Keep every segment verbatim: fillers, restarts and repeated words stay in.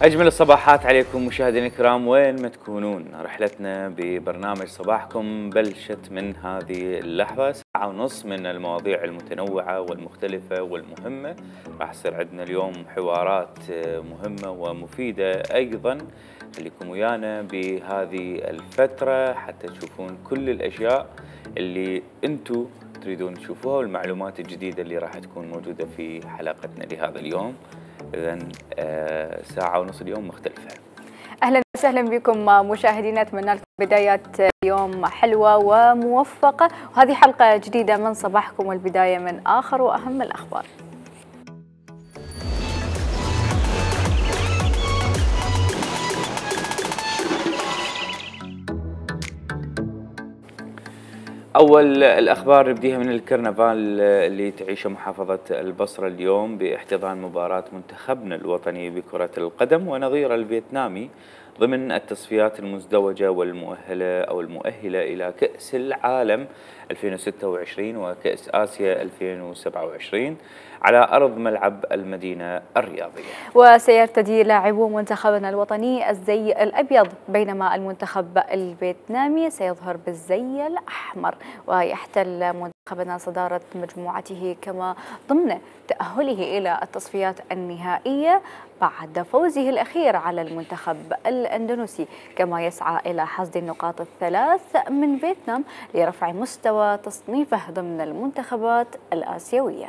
أجمل الصباحات عليكم مشاهدينا الكرام وين ما تكونون. رحلتنا ببرنامج صباحكم بلشت من هذه اللحظة، ساعة ونص من المواضيع المتنوعة والمختلفة والمهمة. راح يصير عندنا اليوم حوارات مهمة ومفيدة أيضا. خليكم ويانا بهذه الفترة حتى تشوفون كل الأشياء اللي أنتم تريدون تشوفوها والمعلومات الجديدة اللي راح تكون موجودة في حلقتنا لهذا اليوم. إذن آه ساعة ونص اليوم مختلفة. أهلا وسهلا بكم مشاهدينا، أتمنى لكم بدايات يوم حلوة وموفقة، وهذه حلقة جديدة من صباحكم والبداية من آخر وأهم الأخبار. أول الأخبار نبديها من الكرنفال اللي تعيشه محافظة البصرة اليوم باحتضان مباراة منتخبنا الوطني بكرة القدم ونظيره الفيتنامي ضمن التصفيات المزدوجة والمؤهلة أو المؤهلة إلى كأس العالم ألفين وستة وعشرين وكأس آسيا ألفين وسبعة وعشرين على أرض ملعب المدينة الرياضية. وسيرتدي لاعبو منتخبنا الوطني الزي الأبيض، بينما المنتخب الفيتنامي سيظهر بالزي الأحمر. ويحتل منتخبنا صدارة مجموعته كما ضمن تأهله إلى التصفيات النهائية بعد فوزه الأخير على المنتخب الأندونيسي، كما يسعى إلى حصد النقاط الثلاث من فيتنام لرفع مستوى تصنيفه ضمن المنتخبات الآسيوية.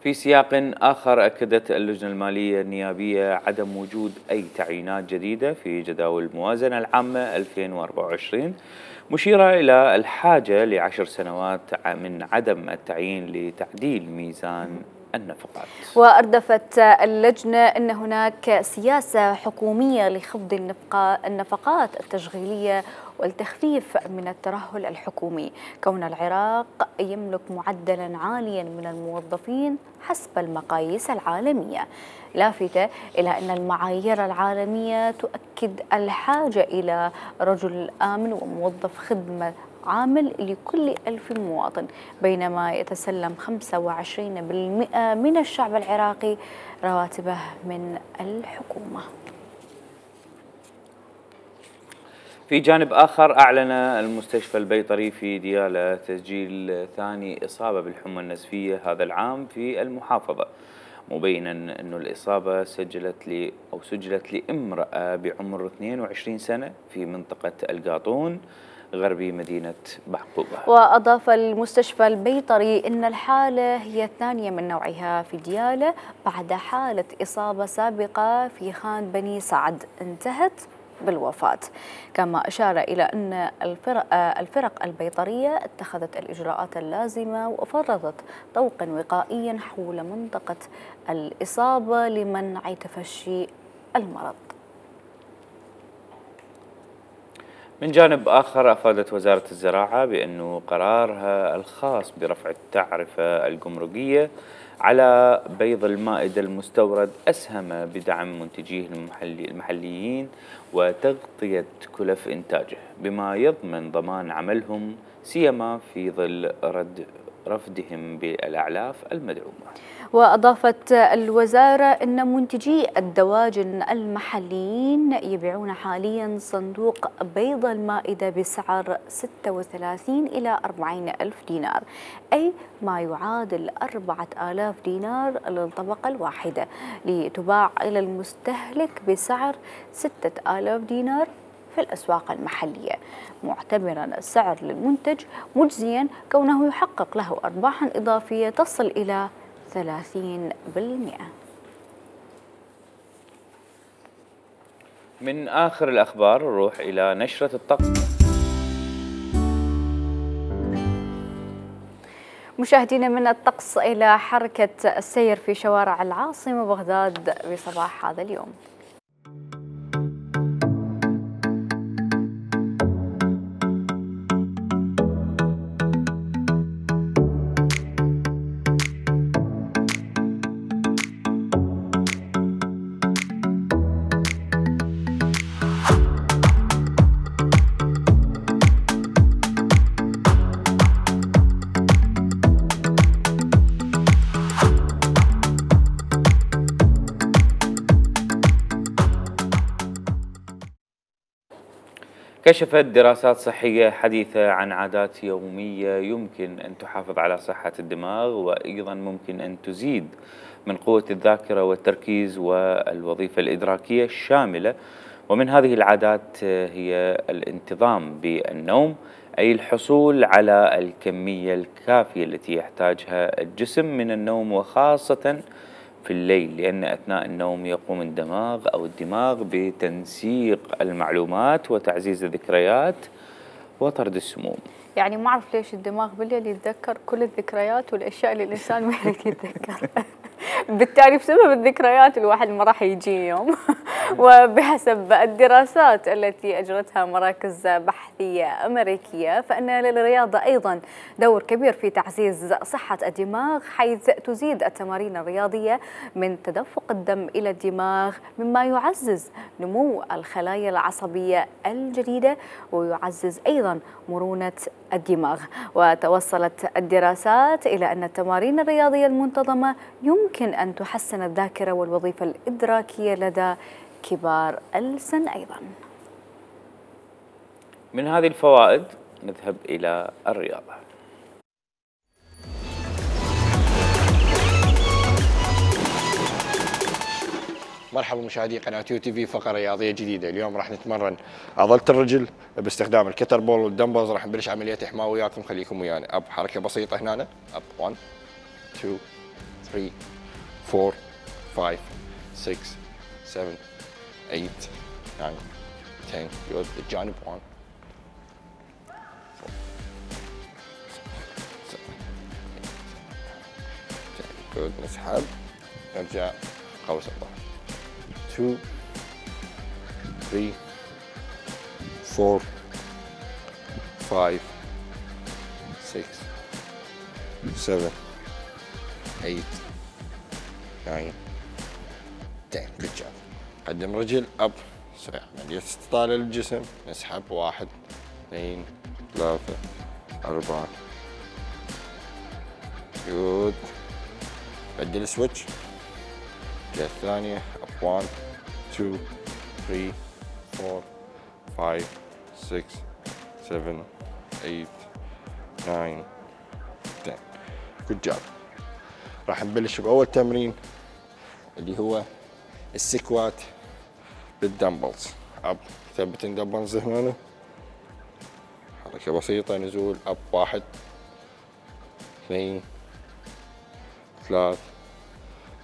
في سياق آخر، أكدت اللجنة المالية النيابية عدم وجود أي تعيينات جديدة في جداول الموازنة العامة ألفين وأربعة وعشرين، مشيرة إلى الحاجة لعشر سنوات من عدم التعيين لتعديل ميزان النفقات. وأردفت اللجنة أن هناك سياسة حكومية لخفض النفقات التشغيلية والتخفيف من الترهل الحكومي، كون العراق يملك معدلا عاليا من الموظفين حسب المقاييس العالمية، لافتة إلى أن المعايير العالمية تؤكد الحاجة إلى رجل آمن وموظف خدمة عامل لكل ألف مواطن، بينما يتسلم خمسة وعشرين بالمئة من الشعب العراقي رواتبه من الحكومة. في جانب آخر، أعلن المستشفى البيطري في ديالى تسجيل ثاني إصابة بالحمى النزفية هذا العام في المحافظة، مبينا أن الإصابة سجلت لي أو سجلت لامرأة بعمر اثنين وعشرين سنة في منطقة القاطون غربي مدينة بعقوبة. وأضاف المستشفى البيطري أن الحالة هي الثانية من نوعها في ديالى بعد حالة إصابة سابقة في خان بني سعد انتهت بالوفاة. كما أشار إلى أن الفرق, الفرق البيطرية اتخذت الإجراءات اللازمة وفرضت طوقا وقائيا حول منطقة الإصابة لمنع تفشي المرض. من جانب آخر، أفادت وزارة الزراعة بأنه قرارها الخاص برفع التعرفة الجمركية على بيض المائدة المستورد أسهم بدعم منتجيه المحلي المحليين وتغطية كلف إنتاجه، بما يضمن ضمان عملهم سيما في ظل رد رفدهم بالأعلاف المدعومة. وأضافت الوزارة أن منتجي الدواجن المحليين يبيعون حاليا صندوق بيض المائدة بسعر ستة وثلاثين إلى أربعين ألف دينار، أي ما يعادل أربعة آلاف دينار للطبقة الواحدة، لتباع إلى المستهلك بسعر ستة آلاف دينار في الأسواق المحلية، معتبرا السعر للمنتج مجزيا كونه يحقق له أرباحا إضافية تصل إلى ثلاثين بالمئة. من آخر الأخبار نروح إلى نشرة الطقس. مشاهدينا، من الطقس إلى حركة السير في شوارع العاصمة بغداد بصباح هذا اليوم. كشفت دراسات صحية حديثة عن عادات يومية يمكن أن تحافظ على صحة الدماغ، وأيضا ممكن أن تزيد من قوة الذاكرة والتركيز والوظيفة الإدراكية الشاملة. ومن هذه العادات هي الانتظام بالنوم، أي الحصول على الكمية الكافية التي يحتاجها الجسم من النوم، وخاصة في الليل، لأن أثناء النوم يقوم الدماغ أو الدماغ بتنسيق المعلومات وتعزيز الذكريات وطرد السموم. يعني ما أعرف ليش الدماغ بالليل يتذكر كل الذكريات والأشياء اللي الإنسان ما يريد يتذكر. بالتالي بسبب الذكريات الواحد ما راح يجي يوم. وبحسب الدراسات التي أجرتها مراكز بحثية أمريكية، فإن للرياضة أيضا دور كبير في تعزيز صحة الدماغ، حيث تزيد التمارين الرياضية من تدفق الدم إلى الدماغ، مما يعزز نمو الخلايا العصبية الجديدة ويعزز أيضا مرونة الدماغ. وتوصلت الدراسات إلى أن التمارين الرياضية المنتظمة يمكن أن تحسن الذاكرة والوظيفة الإدراكية لدى كبار السن أيضا. من هذه الفوائد نذهب إلى الرياضة. مرحبا مشاهدي قناة يو تي في، فقرة رياضية جديدة. اليوم راح نتمرن عضلة الرجل باستخدام الكتر بول والدمبلز. راح نبلش عملية إحماء وياكم، خليكم ويانا. أب حركة بسيطة هنا، أب واحد اثنين ثلاثة أربعة خمسة ستة سبعة ثمانية تسعة عشرة يود الجانب واحد يود نسحب نرجع قوس الله اثنين ثلاثة أربعة خمسة ستة سبعة ثمانية تسعة عشرة. good job. قدم رجل اب سريع، عملية استطالة للجسم. نسحب واحد اثنين ثلاثة أربعة. جود. بدل سويتش. الجهة الثانية اب واحد اثنين ثلاثة أربعة خمسة ستة سبعة ثمانية تسعة عشرة. good job. راح نبلش بأول تمرين اللي هو السكوات بالدمبلز. اب ثبت الدمبلز هنا، حركة بسيطة، نزول اب واحد اثنين ثلاث.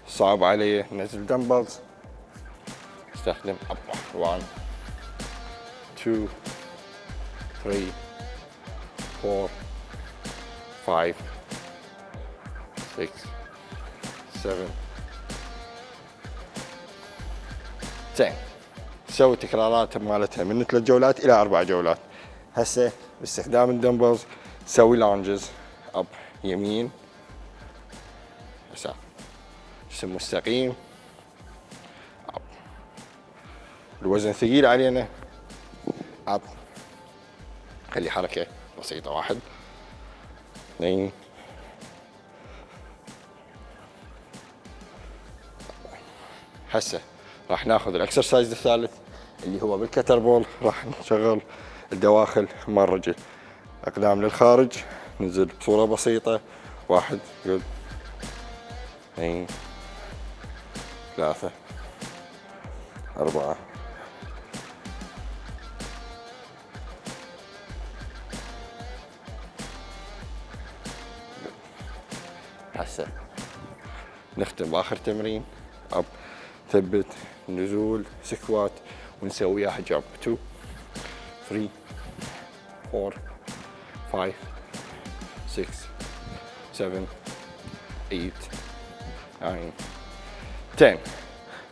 صعب علي نزل دمبلز، استخدم اب واحد اثنين ثلاثة أربعة خمسة ستة سبعة زين. سوي تكرارات مالتها من ثلاث جولات الى اربع جولات. هسه باستخدام الدمبلز سوي لانجز، اب يمين يسار، جسم مستقيم، اب. الوزن ثقيل علينا، اب. خلي حركة بسيطة، واحد اثنين هسه راح ناخذ الاكسرسايز الثالث اللي هو بالكتر بول. راح نشغل الدواخل مال الرجل، اقدام للخارج، ننزل بصورة بسيطة. واحد جود اثنين ثلاثة أربعة هسه نختم بآخر تمرين. اب ثبت نزول سكوات ونسويها جامب. اثنين ثلاثة أربعة خمسة ستة سبعة ثمانية تسعة عشرة.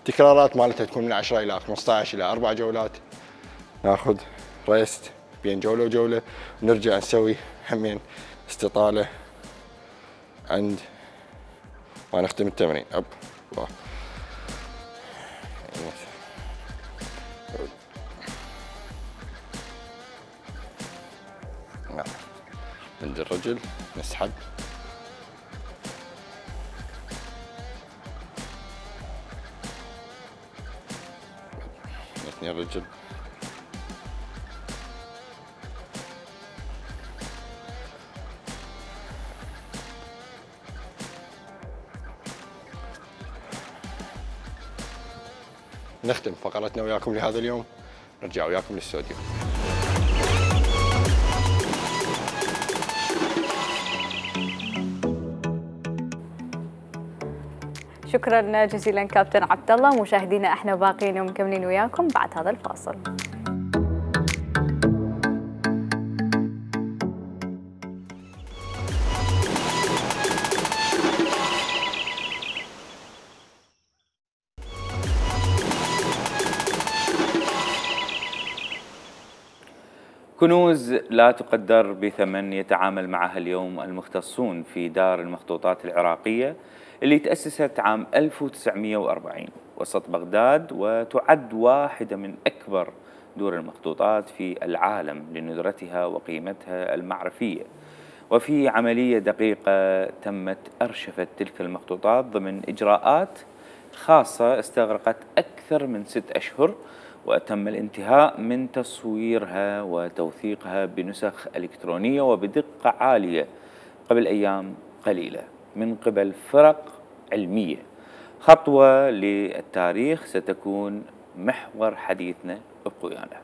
تكرارات مالتها تكون من عشرة إلى خمسة عشر إلى أربع جولات. ناخذ ريست بين جولة وجولة، ونرجع نسوي همين استطالة عند ما نختم التمرين. اب واحد عند الرجل، نسحب نثني الرجل نختم فقرتنا وياكم لهذا اليوم، نرجع وياكم للاستوديو. شكرا جزيلا كابتن عبد الله. مشاهدينا احنا باقيين ومكملين وياكم بعد هذا الفاصل. كنوز لا تقدر بثمن يتعامل معها اليوم المختصون في دار المخطوطات العراقية اللي تأسست عام ألف وتسعمئة وأربعين وسط بغداد، وتعد واحدة من أكبر دور المخطوطات في العالم لندرتها وقيمتها المعرفية. وفي عملية دقيقة تمت أرشفة تلك المخطوطات ضمن إجراءات خاصة استغرقت أكثر من ست أشهر، وتم الانتهاء من تصويرها وتوثيقها بنسخ إلكترونية وبدقة عالية قبل أيام قليلة من قبل فرق علمية. خطوة للتاريخ ستكون محور حديثنا ابقوا ويانا.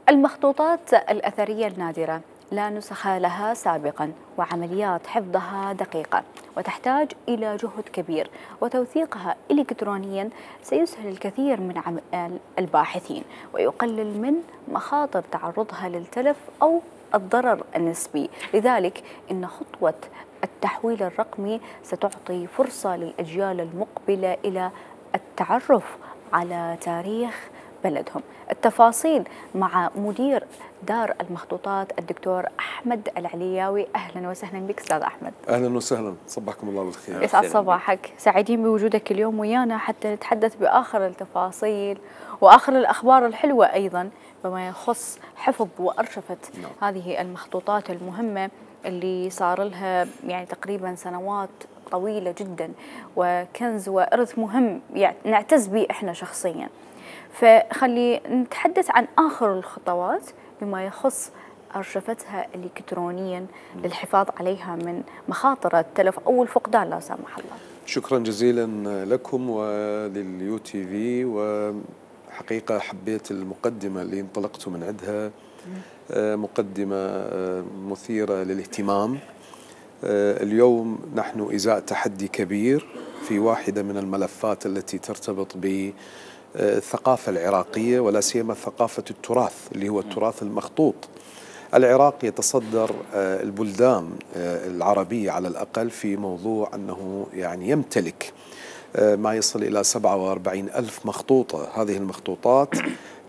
المخطوطات الأثرية النادرة لا نسخ لها سابقا، وعمليات حفظها دقيقة وتحتاج إلى جهد كبير، وتوثيقها إلكترونيا سيسهل الكثير من الباحثين ويقلل من مخاطر تعرضها للتلف أو الضرر النسبي. لذلك إن خطوة التحويل الرقمي ستعطي فرصة للأجيال المقبلة إلى التعرف على تاريخ بلدهم. التفاصيل مع مدير دار المخطوطات الدكتور أحمد العلياوي. أهلا وسهلا بك أستاذ أحمد. أهلا وسهلا، صبحكم الله بالخير. يسعد صباحك، سعيدين بوجودك اليوم ويانا حتى نتحدث بآخر التفاصيل وآخر الأخبار الحلوة أيضا بما يخص حفظ وأرشفة no. هذه المخطوطات المهمة اللي صار لها يعني تقريبا سنوات طويلة جدا، وكنز وإرث مهم يعني نعتز به إحنا شخصيا. فخلي نتحدث عن آخر الخطوات بما يخص أرشفتها إلكترونيا للحفاظ عليها من مخاطر التلف أو الفقدان لا سمح الله. شكرا جزيلا لكم ولليو تي في، وحقيقة حبيت المقدمة اللي انطلقت من عندها، مقدمة مثيرة للاهتمام. اليوم نحن إزاء تحدي كبير في واحدة من الملفات التي ترتبط ب الثقافة العراقية، ولا سيما ثقافة التراث اللي هو التراث المخطوط. العراق يتصدر البلدان العربية على الأقل في موضوع أنه يعني يمتلك ما يصل إلى سبعة وأربعين ألف مخطوطة. هذه المخطوطات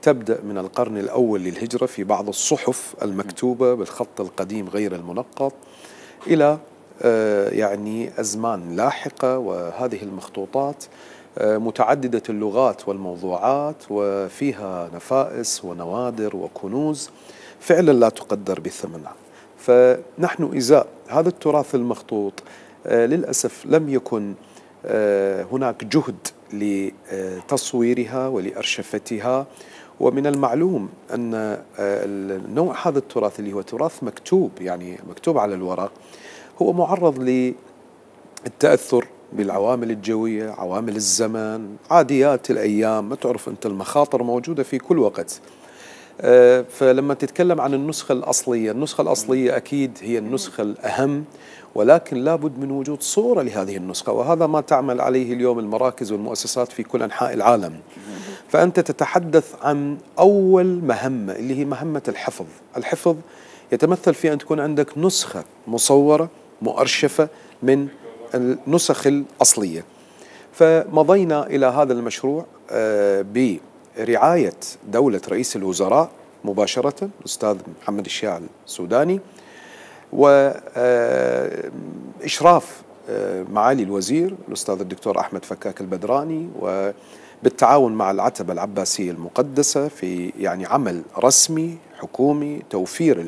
تبدأ من القرن الأول للهجرة في بعض الصحف المكتوبة بالخط القديم غير المنقط إلى يعني أزمان لاحقة، وهذه المخطوطات متعددة اللغات والموضوعات وفيها نفائس ونوادر وكنوز فعلا لا تقدر بثمن. فنحن إزاء هذا التراث المخطوط للأسف لم يكن هناك جهد لتصويرها ولأرشفتها. ومن المعلوم أن نوع هذا التراث اللي هو تراث مكتوب يعني مكتوب على الورق هو معرض للتأثر بالعوامل الجوية، عوامل الزمن، عاديات الأيام، ما تعرف أنت المخاطر موجودة في كل وقت. فلما تتكلم عن النسخة الأصلية، النسخة الأصلية أكيد هي النسخة الأهم، ولكن لابد من وجود صورة لهذه النسخة، وهذا ما تعمل عليه اليوم المراكز والمؤسسات في كل أنحاء العالم. فأنت تتحدث عن أول مهمة اللي هي مهمة الحفظ. الحفظ يتمثل في أن تكون عندك نسخة مصورة مؤرشفة من النسخ الأصلية. فمضينا إلى هذا المشروع برعاية دولة رئيس الوزراء مباشرة الأستاذ محمد الشيع السوداني، وإشراف معالي الوزير الأستاذ الدكتور أحمد فكاك البدراني، وبالتعاون مع العتبة العباسية المقدسة في يعني عمل رسمي حكومي، توفير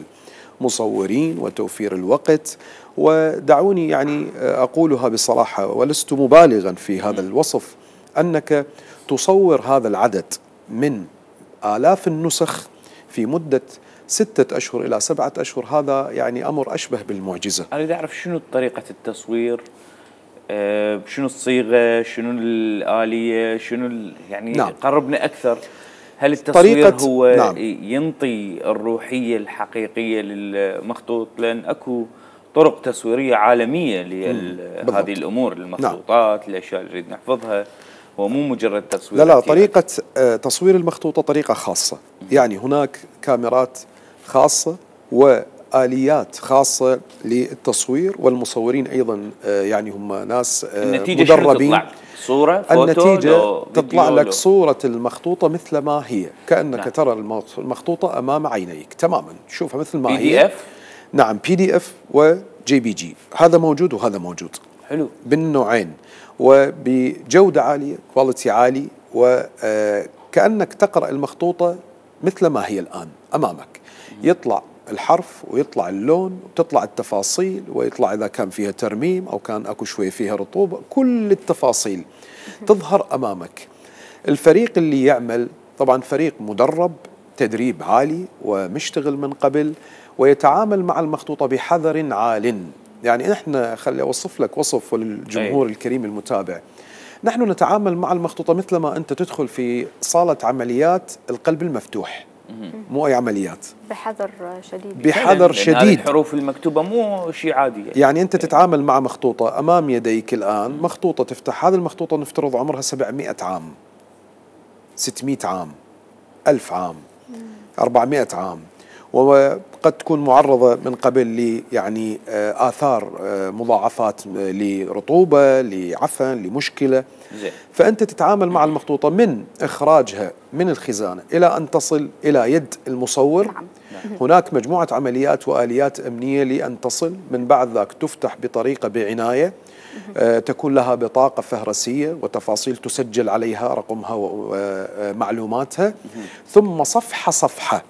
المصورين وتوفير الوقت. ودعوني يعني أقولها بصراحة ولست مبالغا في هذا الوصف، أنك تصور هذا العدد من آلاف النسخ في مدة ستة أشهر إلى سبعة أشهر، هذا يعني أمر أشبه بالمعجزة. أريد أعرف شنو طريقة التصوير، أه شنو الصيغة، شنو الآلية، شنو يعني نعم. قربنا أكثر. هل التصوير هو نعم. ينطي الروحية الحقيقية للمخطوط؟ لأن أكو طرق تصويرية عالمية لهذه الأمور، المخطوطات، نعم. الأشياء اللي نريد نحفظها، هو مو مجرد تصوير. لا لا، طريقة تصوير المخطوطة طريقة خاصة، يعني هناك كاميرات خاصة وآليات خاصة للتصوير، والمصورين أيضا يعني هم ناس النتيجة مدربين. صورة، فوتو، النتيجة تطلع لك صورة المخطوطة مثل ما هي، كأنك نعم. ترى المخطوطة أمام عينيك تماما، تشوفها مثل ما هي. بي دي اف؟ نعم، بي دي اف وجي بي جي، هذا موجود وهذا موجود. حلو. بالنوعين وبجودة عالية، كواليتي عالي، وكأنك تقرأ المخطوطة مثل ما هي الآن أمامك. يطلع الحرف ويطلع اللون وتطلع التفاصيل، ويطلع إذا كان فيها ترميم أو كان أكو شوية فيها رطوبة، كل التفاصيل تظهر أمامك. الفريق اللي يعمل طبعا فريق مدرب تدريب عالي ومشتغل من قبل، ويتعامل مع المخطوطة بحذر عال. يعني نحن خلي أوصف لك وصف وللجمهور الكريم المتابع، نحن نتعامل مع المخطوطة مثل ما أنت تدخل في صالة عمليات القلب المفتوح، مو أي عمليات، بحذر شديد. بحذر شديد. الحروف المكتوبة مو شيء عادي. يعني أنت تتعامل مع مخطوطة أمام يديك الآن، مخطوطة تفتح، هذه المخطوطة نفترض عمرها سبعمائة عام، ستمائة عام، ألف عام، أربعمائة عام، وقد تكون معرضة من قبل ل يعني آثار مضاعفات لرطوبة، لعفن، لمشكلة. زي. فأنت تتعامل مع المخطوطة من إخراجها من الخزانة إلى أن تصل إلى يد المصور. نعم. هناك مجموعة عمليات وآليات أمنية لأن تصل، من بعد ذاك تفتح بطريقة بعناية، آه تكون لها بطاقة فهرسية وتفاصيل تسجل عليها رقمها ومعلوماتها، ثم صفحة صفحة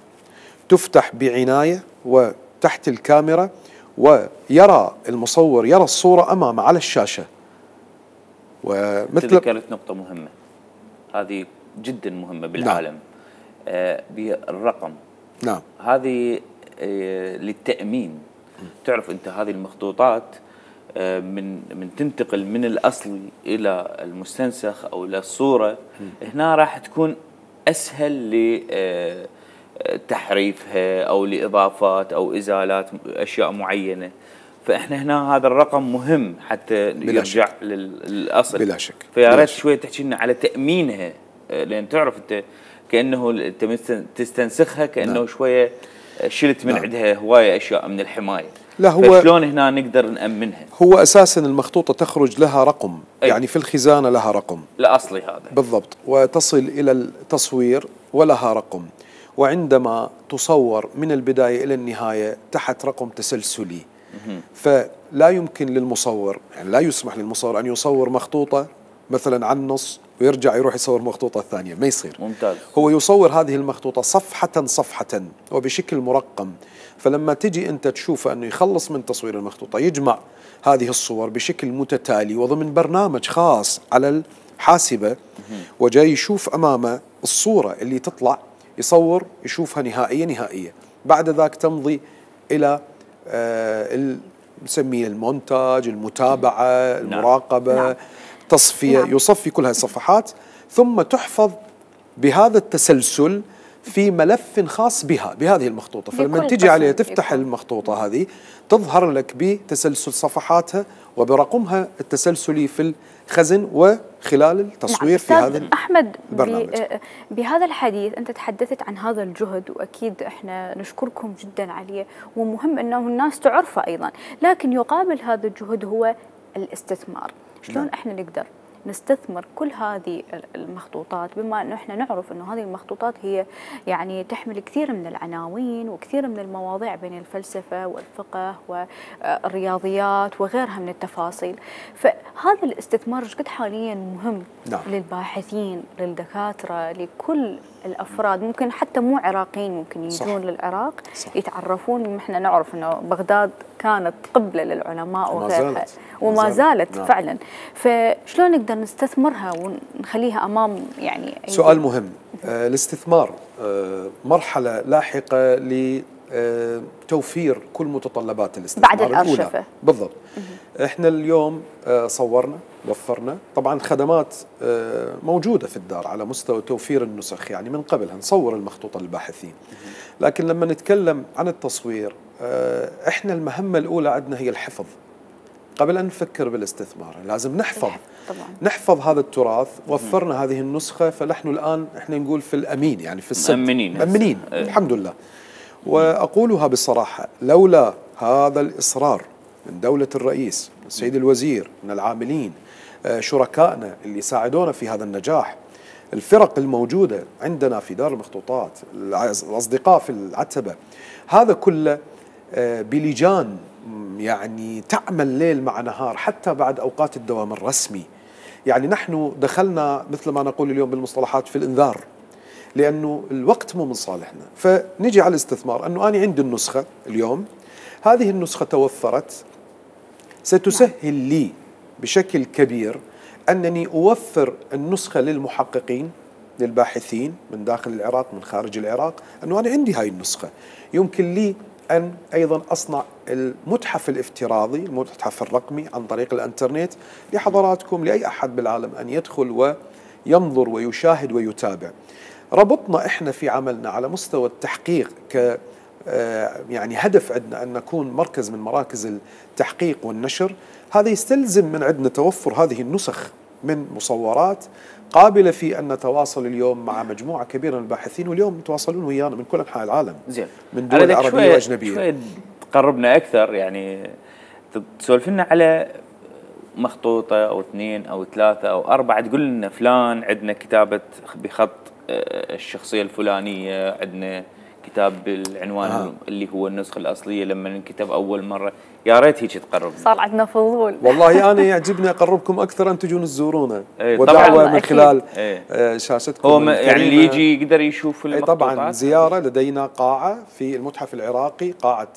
تفتح بعناية وتحت الكاميرا، ويرى المصور يرى الصورة أمامه على الشاشة. ومثل ذكرت نقطة مهمة، هذه جدا مهمة بالعالم. نعم. آه بالرقم. نعم. هذه آه للتأمين. م. تعرف أنت هذه المخطوطات آه من من تنتقل من الأصل إلى المستنسخ أو إلى الصورة، م. هنا راح تكون أسهل ل آه تحريفها أو لإضافات أو إزالات أشياء معينة. فإحنا هنا هذا الرقم مهم حتى يرجع للأصل بلا شك. فيا ريت شوية تحكي لنا على تأمينها، لأن تعرف أنت كأنه أنت تستنسخها كأنه نعم. شوية شلت من نعم. عندها هواية أشياء من الحماية. لا هو فشلون هنا نقدر نأمنها؟ هو أساسا المخطوطة تخرج لها رقم، أي. يعني في الخزانة لها رقم الأصلي هذا بالضبط، وتصل إلى التصوير ولها رقم، وعندما تصور من البداية إلى النهاية تحت رقم تسلسلي. فلا يمكن للمصور، يعني لا يسمح للمصور أن يصور مخطوطة مثلا عن نص ويرجع يروح يصور مخطوطة ثانية، ما يصير. ممتاز. هو يصور هذه المخطوطة صفحة صفحة وبشكل مرقم، فلما تجي أنت تشوف أنه يخلص من تصوير المخطوطة يجمع هذه الصور بشكل متتالي وضمن برنامج خاص على الحاسبة، وجاي يشوف أمامه الصورة اللي تطلع، يصور يشوفها نهائية نهائية. بعد ذاك تمضي إلى آه نسميه المونتاج، المتابعة، المراقبة، نعم. تصفية، نعم. يصفي كل هذه الصفحات ثم تحفظ بهذا التسلسل في ملف خاص بها بهذه المخطوطة. فلما تجي عليها تفتح يكون. المخطوطة هذه تظهر لك بتسلسل صفحاتها وبرقمها التسلسلي في الخزن وخلال التصوير. نعم. في هذا أحمد البرنامج. بهذا الحديث أنت تحدثت عن هذا الجهد، وأكيد إحنا نشكركم جدا عليه، ومهم أنه الناس تعرفه أيضا، لكن يقابل هذا الجهد هو الاستثمار. شلون نعم. إحنا نقدر نستثمر كل هذه المخطوطات، بما أنه إحنا نعرف أنه هذه المخطوطات هي يعني تحمل كثير من العناوين وكثير من المواضيع بين الفلسفة والفقه والرياضيات وغيرها من التفاصيل. فهذا الاستثمار قد حاليا مهم نعم. للباحثين، للدكاترة، لكل الأفراد، ممكن حتى مو عراقيين ممكن يجون للعراق صح. يتعرفون. احنا نعرف أنه بغداد كانت قبلة للعلماء وغيرها وما زالت نعم. فعلا. فشلون نقدر نستثمرها ونخليها أمام يعني سؤال مهم. آه الاستثمار آه مرحلة لاحقة آه، توفير كل متطلبات الاستثمار بعد الأرشفة. الأولى. بالضبط. احنا اليوم آه، صورنا، وفرنا طبعا خدمات آه، موجودة في الدار على مستوى توفير النسخ، يعني من قبلها نصور المخطوطة للباحثين. لكن لما نتكلم عن التصوير، آه، احنا المهمة الأولى عندنا هي الحفظ. قبل أن نفكر بالاستثمار لازم نحفظ طبعا. نحفظ هذا التراث. وفرنا هذه النسخة، فنحن الآن احنا نقول في الأمين، يعني في السد مأمنين مأمنين الحمد لله. وأقولها بصراحة، لولا هذا الإصرار من دولة الرئيس، السيد الوزير، من العاملين، شركائنا اللي ساعدونا في هذا النجاح، الفرق الموجودة عندنا في دار المخطوطات، الأصدقاء في العتبة، هذا كله بلجان يعني تعمل ليل مع نهار حتى بعد أوقات الدوام الرسمي. يعني نحن دخلنا مثل ما نقول اليوم بالمصطلحات في الإنذار، لأنه الوقت مو من صالحنا. فنجي على الاستثمار، أنه أنا عندي النسخة اليوم، هذه النسخة توفرت، ستسهل لي بشكل كبير أنني أوفر النسخة للمحققين، للباحثين من داخل العراق من خارج العراق، أنه أنا عندي هاي النسخة. يمكن لي أن أيضا أصنع المتحف الافتراضي، المتحف الرقمي عن طريق الانترنت لحضراتكم، لأي أحد بالعالم أن يدخل وينظر ويشاهد ويتابع. ربطنا إحنا في عملنا على مستوى التحقيق ك يعني هدف عندنا أن نكون مركز من مراكز التحقيق والنشر. هذا يستلزم من عندنا توفر هذه النسخ من مصورات قابلة في أن نتواصل اليوم مع مجموعة كبيرة من الباحثين، واليوم يتواصلون ويانا من كل أنحاء العالم. زين. من دول عربية وأجنبية. شوي تقربنا أكثر، يعني تسولف لنا على مخطوطة أو اثنين أو ثلاثة أو أربعة، تقول لنا فلان عندنا كتابة بخط الشخصية الفلانية، عندنا كتاب بالعنوان آه. اللي هو النسخة الأصلية لما انكتب أول مرة. يا ريت هيك تقربنا. صار عندنا فضول. والله أنا يعجبني أقربكم أكثر أن تجون تزورونا. ايه ودعوة من خلال ايه شاشتكم. هو يعني اللي يجي يقدر يشوف المخطوطات. طبعا زيارة، لدينا قاعة في المتحف العراقي، قاعة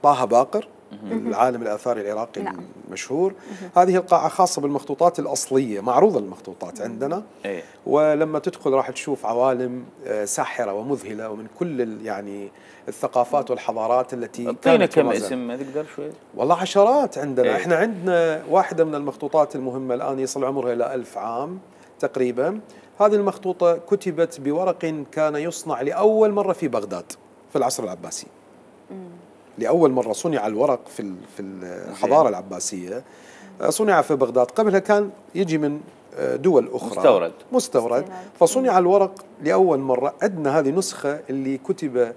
طه باقر العالم الآثاري العراقي نعم. المشهور. هذه القاعة خاصة بالمخطوطات الأصلية، معروضة المخطوطات عندنا. ايه. ولما تدخل راح تشوف عوالم ساحرة ومذهلة ومن كل يعني الثقافات والحضارات التي اعطينا كم اسم ما تقدر شوي؟ والله عشرات عندنا. ايه. احنا عندنا واحدة من المخطوطات المهمة الآن يصل عمرها إلى ألف عام تقريبا. هذه المخطوطة كتبت بورق كان يصنع لأول مرة في بغداد في العصر العباسي. لأول مرة صنع الورق في في الحضارة العباسية، صنع في بغداد. قبلها كان يجي من دول أخرى مستورد مستورد فصنع الورق لأول مرة. عندنا هذه نسخة اللي كتب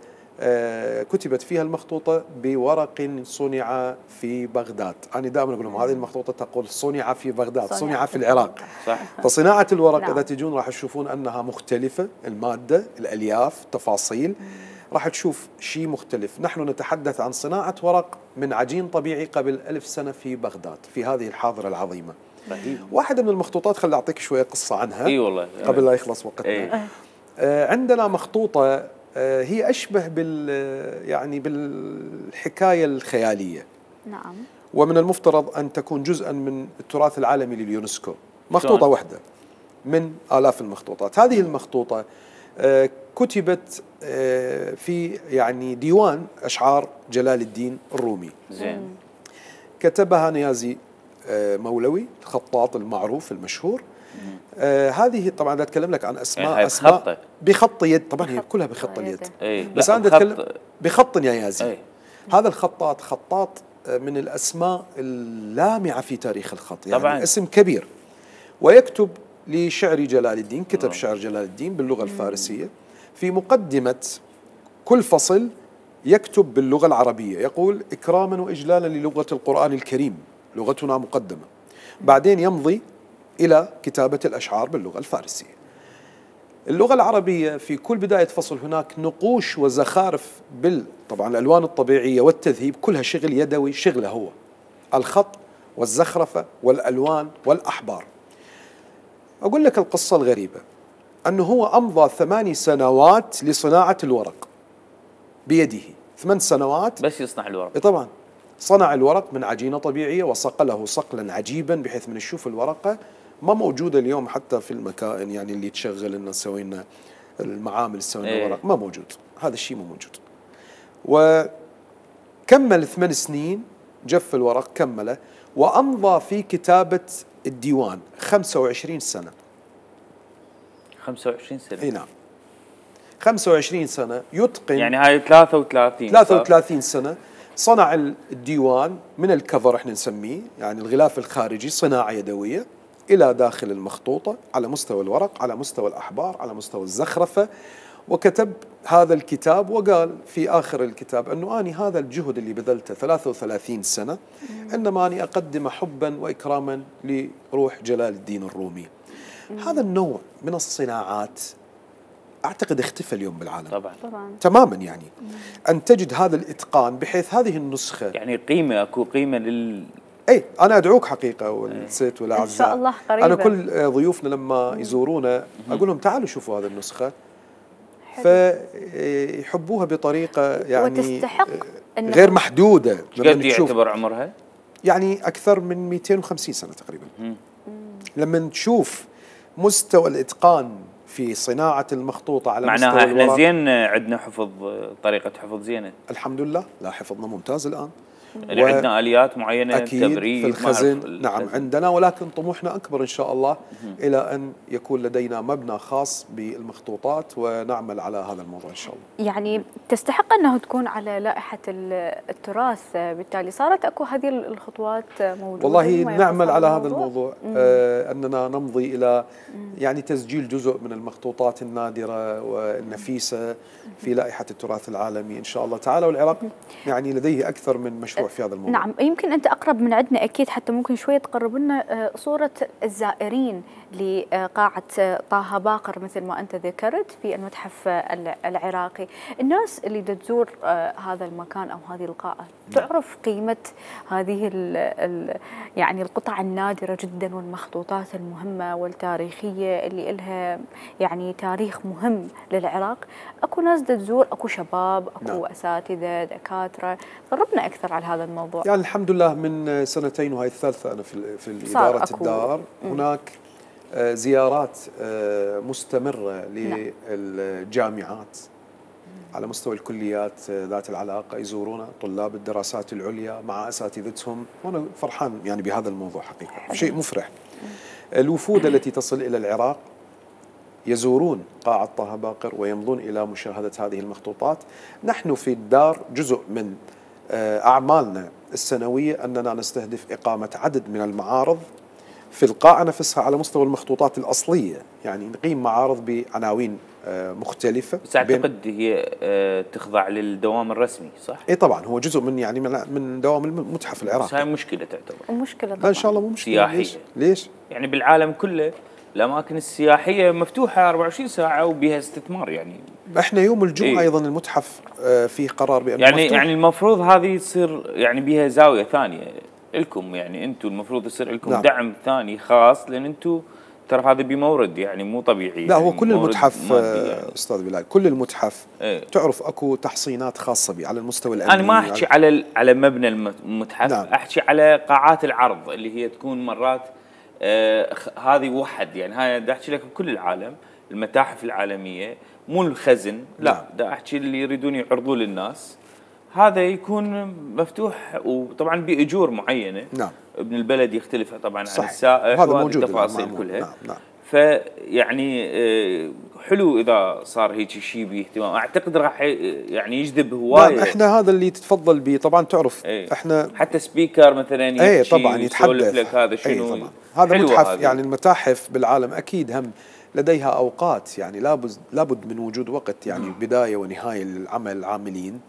كتبت فيها المخطوطة بورق صنع في بغداد. أنا دائما أقول لهم هذه المخطوطة تقول صنع في بغداد، صنع, صنع في العراق. صح. فصناعة الورق نعم. إذا تجون راح تشوفون أنها مختلفة، المادة، الألياف، تفاصيل، راح تشوف شيء مختلف. نحن نتحدث عن صناعة ورق من عجين طبيعي قبل ألف سنة في بغداد، في هذه الحاضرة العظيمة. رهيب. واحدة من المخطوطات خلي أعطيك شوية قصة عنها. اي والله قبل لا يخلص وقتنا. ايه. آه عندنا مخطوطة آه هي أشبه بال يعني بالحكاية الخيالية. نعم. ومن المفترض أن تكون جزءا من التراث العالمي لليونسكو. مخطوطة شون. واحدة من آلاف المخطوطات. هذه المخطوطة آه كتبت آه في يعني ديوان أشعار جلال الدين الرومي. زين. كتبها نيازي آه مولوي، الخطاط المعروف المشهور. آه هذه طبعا بدي اتكلم لك عن اسماء يعني اسماء بخطة. بخط يد، طبعا هي كلها بخط اليد. ايه. بس انا بدي اتكلم بخط نيازي. ايه. هذا الخطاط خطاط من الاسماء اللامعه في تاريخ الخط، يعني طبعا. اسم كبير. ويكتب لشعر جلال الدين، كتب شعر جلال الدين باللغه الفارسيه. في مقدمه كل فصل يكتب باللغه العربيه، يقول اكراما واجلالا للغه القران الكريم، لغتنا مقدمه. بعدين يمضي إلى كتابة الأشعار باللغة الفارسية. اللغة العربية في كل بداية فصل هناك نقوش وزخارف بال طبعا الألوان الطبيعية والتذهيب، كلها شغل يدوي، شغله هو الخط والزخرفة والألوان والأحبار. أقول لك القصة الغريبة أنه هو أمضى ثماني سنوات لصناعة الورق بيده، ثمان سنوات بس يصنع الورق. طبعا صنع الورق من عجينة طبيعية وصقله صقلا عجيبا بحيث من نشوف الورقة ما موجودة اليوم حتى في المكائن يعني اللي تشغل لنا تسوي لنا المعامل تسوي لنا ايه. ورق، ما موجود، هذا الشيء مو موجود. وكمل ثمان سنين، جف الورق كمله، وأمضى في كتابة الديوان خمسة وعشرين سنة. خمسة وعشرين سنة؟ اي نعم، خمسة وعشرين سنة يتقن، يعني هاي ثلاثة وثلاثين ثلاثة وثلاثين سنة صنع الديوان من الكفر احنا نسميه، يعني الغلاف الخارجي، صناعة يدوية إلى داخل المخطوطة، على مستوى الورق، على مستوى الأحبار، على مستوى الزخرفة. وكتب هذا الكتاب وقال في آخر الكتاب أنه أني هذا الجهد اللي بذلته ثلاثة وثلاثين سنة إنما أني أقدم حبا وإكراما لروح جلال الدين الرومي. هذا النوع من الصناعات أعتقد اختفى اليوم بالعالم طبعا طبعا تماما، يعني أن تجد هذا الإتقان بحيث هذه النسخة، يعني قيمة، أكو قيمة لل اي انا ادعوك حقيقه والست والاعزاء ان شاء الله قريبا. انا كل ضيوفنا لما يزورونا اقول لهم تعالوا شوفوا هذه النسخه، فيحبوها بطريقه يعني وتستحق غير محدوده. قد يعتبر عمرها؟ يعني اكثر من مئتين وخمسين سنه تقريبا. لما تشوف مستوى الاتقان في صناعه المخطوطه على مستوى معناها احنا الورق، زين عندنا حفظ، طريقه حفظ زينه الحمد لله. لا حفظنا ممتاز الان، يعني و... عندنا اليات معينه أكيد تبريد في الخزن. الخزن. نعم عندنا، ولكن طموحنا اكبر ان شاء الله الى ان يكون لدينا مبنى خاص بالمخطوطات، ونعمل على هذا الموضوع ان شاء الله. يعني تستحق انه تكون على لائحه التراث، بالتالي صارت اكو هذه الخطوات موجوده. والله نعمل على هذا الموضوع، آه اننا نمضي الى يعني تسجيل جزء من المخطوطات النادره والنفيسه في لائحه التراث العالمي ان شاء الله تعالى. والعراق يعني لديه اكثر من مشروع في هذا الموضوع. نعم، يمكن أنت أقرب من عندنا أكيد، حتى ممكن شوية تقرب لنا صورة الزائرين لقاعة طه باقر مثل ما أنت ذكرت في المتحف العراقي. الناس اللي تزور هذا المكان أو هذه القاعة تعرف قيمة هذه ال ال يعني القطع النادرة جدا والمخطوطات المهمة والتاريخية اللي لها يعني تاريخ مهم للعراق. أكو ناس تزور، أكو شباب، أكو نعم. أساتذة، دكاترة. قربنا أكثر على هذا الموضوع. يعني الحمد لله من سنتين وهي الثالثة أنا في في إدارة الدار، هناك زيارات مستمرة للجامعات على مستوى الكليات ذات العلاقة، يزورونا طلاب الدراسات العليا مع أساتذتهم، وأنا فرحان يعني بهذا الموضوع حقيقة، شيء مفرح. الوفود التي تصل إلى العراق يزورون قاعة طه باقر ويمضون إلى مشاهدة هذه المخطوطات. نحن في الدار جزء من أعمالنا السنوية أننا نستهدف إقامة عدد من المعارض في القاعة نفسها على مستوى المخطوطات الأصلية، يعني نقيم معارض بعناوين مختلفة. بس أعتقد هي تخضع للدوام الرسمي صح؟ إيه طبعا، هو جزء من يعني من دوام المتحف العراقي. بس هاي مشكلة تعتبر مشكلة طبعا. لا إن شاء الله مو مشكلة. سياحية. ليش؟ ليش؟ يعني بالعالم كله الأماكن السياحية مفتوحة أربعة وعشرين ساعة وبها استثمار. يعني احنا يوم الجمعة إيه؟ أيضا المتحف فيه قرار بأنه يعني مفتوح. يعني المفروض هذه تصير يعني بها زاوية ثانية لكم، يعني أنتم المفروض يصير لكم نعم. دعم ثاني خاص، لأن أنتم ترى هذا بمورد يعني مو طبيعي. لا يعني هو كل المتحف يعني. أستاذ بلال، كل المتحف ايه؟ تعرف أكو تحصينات خاصة به على المستوى الأمني. أنا ما أحكي على على مبنى المتحف، نعم. أحكي على قاعات العرض اللي هي تكون مرات آه هذه وحد، يعني هاي دا أحكي لك بكل العالم المتاحف العالمية مو الخزن، لا نعم. دا أحكي اللي يريدون يعرضوا للناس هذا يكون مفتوح، وطبعا بأجور معينة. نعم. ابن البلد يختلف طبعا عن السائح وهذه التفاصيل كلها. نعم. نعم. فيعني حلو اذا صار هيك شيء باهتمام، اعتقد راح يعني يجذب هوايه. نعم احنا هذا اللي تتفضل به طبعا، تعرف ايه. احنا حتى سبيكر مثلا يحكي ايه طبعا يتحدث لك هذا شنو. ايه هذا متحف هذه. يعني المتاحف بالعالم اكيد هم لديها اوقات، يعني لابد لابد من وجود وقت يعني بدايه ونهايه للعمل العاملين.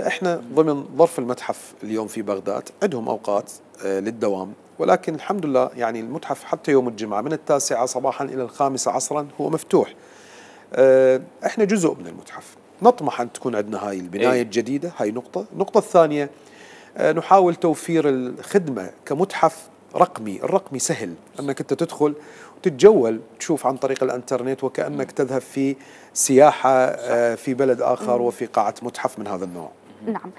احنا ضمن ظرف المتحف اليوم في بغداد عندهم اوقات للدوام، ولكن الحمد لله يعني المتحف حتى يوم الجمعه من التاسعه صباحا الى الخامسه عصرا هو مفتوح. احنا جزء من المتحف، نطمح ان تكون عندنا هاي البنايه الجديده، هاي نقطه. النقطه الثانيه نحاول توفير الخدمه كمتحف رقمي. الرقمي سهل انك انت تدخل وتتجول تشوف عن طريق الانترنت وكانك تذهب في سياحه في بلد اخر وفي قاعه متحف من هذا النوع. نعم.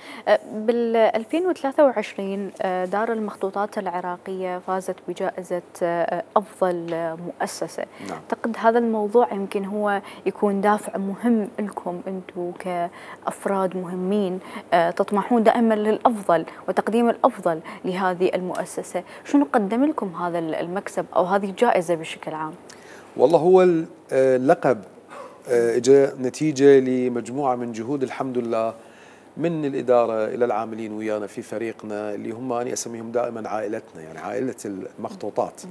بال ألفين وثلاثة وعشرين دار المخطوطات العراقية فازت بجائزة أفضل مؤسسة. نعم. أعتقد هذا الموضوع يمكن هو يكون دافع مهم لكم أنتم كأفراد مهمين تطمحون دائما للأفضل وتقديم الأفضل لهذه المؤسسة. شنو قدم لكم هذا المكسب أو هذه الجائزة بشكل عام؟ والله هو اللقب اجى نتيجة لمجموعة من جهود الحمد لله من الإدارة إلى العاملين ويانا في فريقنا اللي هم أنا أسميهم دائما عائلتنا، يعني عائلة المخطوطات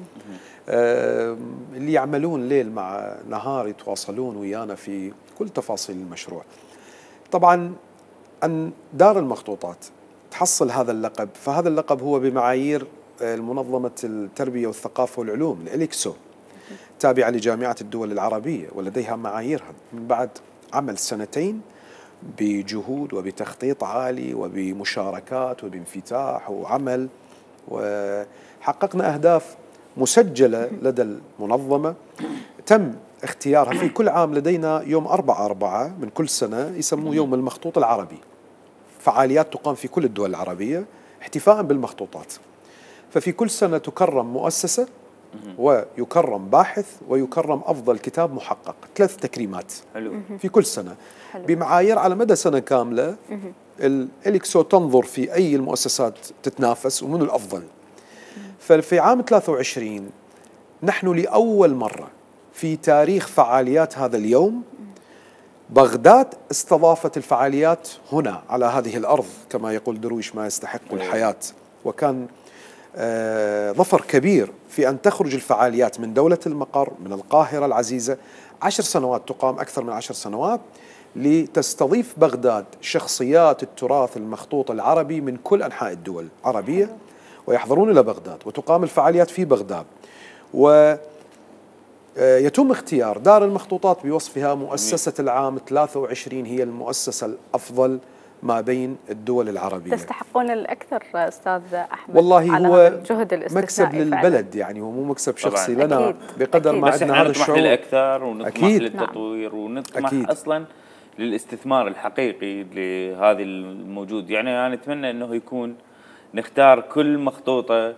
اللي يعملون ليل مع نهار يتواصلون ويانا في كل تفاصيل المشروع. طبعا أن دار المخطوطات تحصل هذا اللقب، فهذا اللقب هو بمعايير المنظمة التربية والثقافة والعلوم الإليكسو، تابعة لجامعة الدول العربية ولديها معاييرها، من بعد عمل سنتين بجهود وبتخطيط عالي وبمشاركات وبانفتاح وعمل، وحققنا أهداف مسجلة لدى المنظمة تم اختيارها. في كل عام لدينا يوم أربعة أربعة من كل سنة يسموه يوم المخطوط العربي، فعاليات تقام في كل الدول العربية احتفاء بالمخطوطات. ففي كل سنة تكرم مؤسسة ويكرم باحث ويكرم أفضل كتاب محقق، ثلاث تكريمات حلو. في كل سنة حلو. بمعايير على مدى سنة كاملة. الإليكسو تنظر في أي المؤسسات تتنافس ومن الأفضل. ففي عام ثلاثة وعشرين نحن لأول مرة في تاريخ فعاليات هذا اليوم بغداد استضافت الفعاليات هنا على هذه الأرض، كما يقول درويش ما يستحق الحياة، وكان آه ظفر كبير في أن تخرج الفعاليات من دولة المقر من القاهرة العزيزة. عشر سنوات تقام، أكثر من عشر سنوات، لتستضيف بغداد شخصيات التراث المخطوط العربي من كل أنحاء الدول العربية ويحضرون إلى بغداد وتقام الفعاليات في بغداد. ويتم اختيار دار المخطوطات بوصفها مؤسسة العام ثلاثة وعشرين هي المؤسسة الأفضل ما بين الدول العربية. تستحقون الأكثر أستاذ أحمد والله على هو الجهد الاستثنائي مكسب للبلد فعلا. يعني هو مو مكسب شخصي طبعاً. لنا أكيد. بقدر أكيد. ما عندنا هذا الشعور للأكثر ونطمح أكيد. للتطوير ونطمح أكيد. أصلا للاستثمار الحقيقي لهذه الموجود. يعني أنا أتمنى أنه يكون نختار كل مخطوطة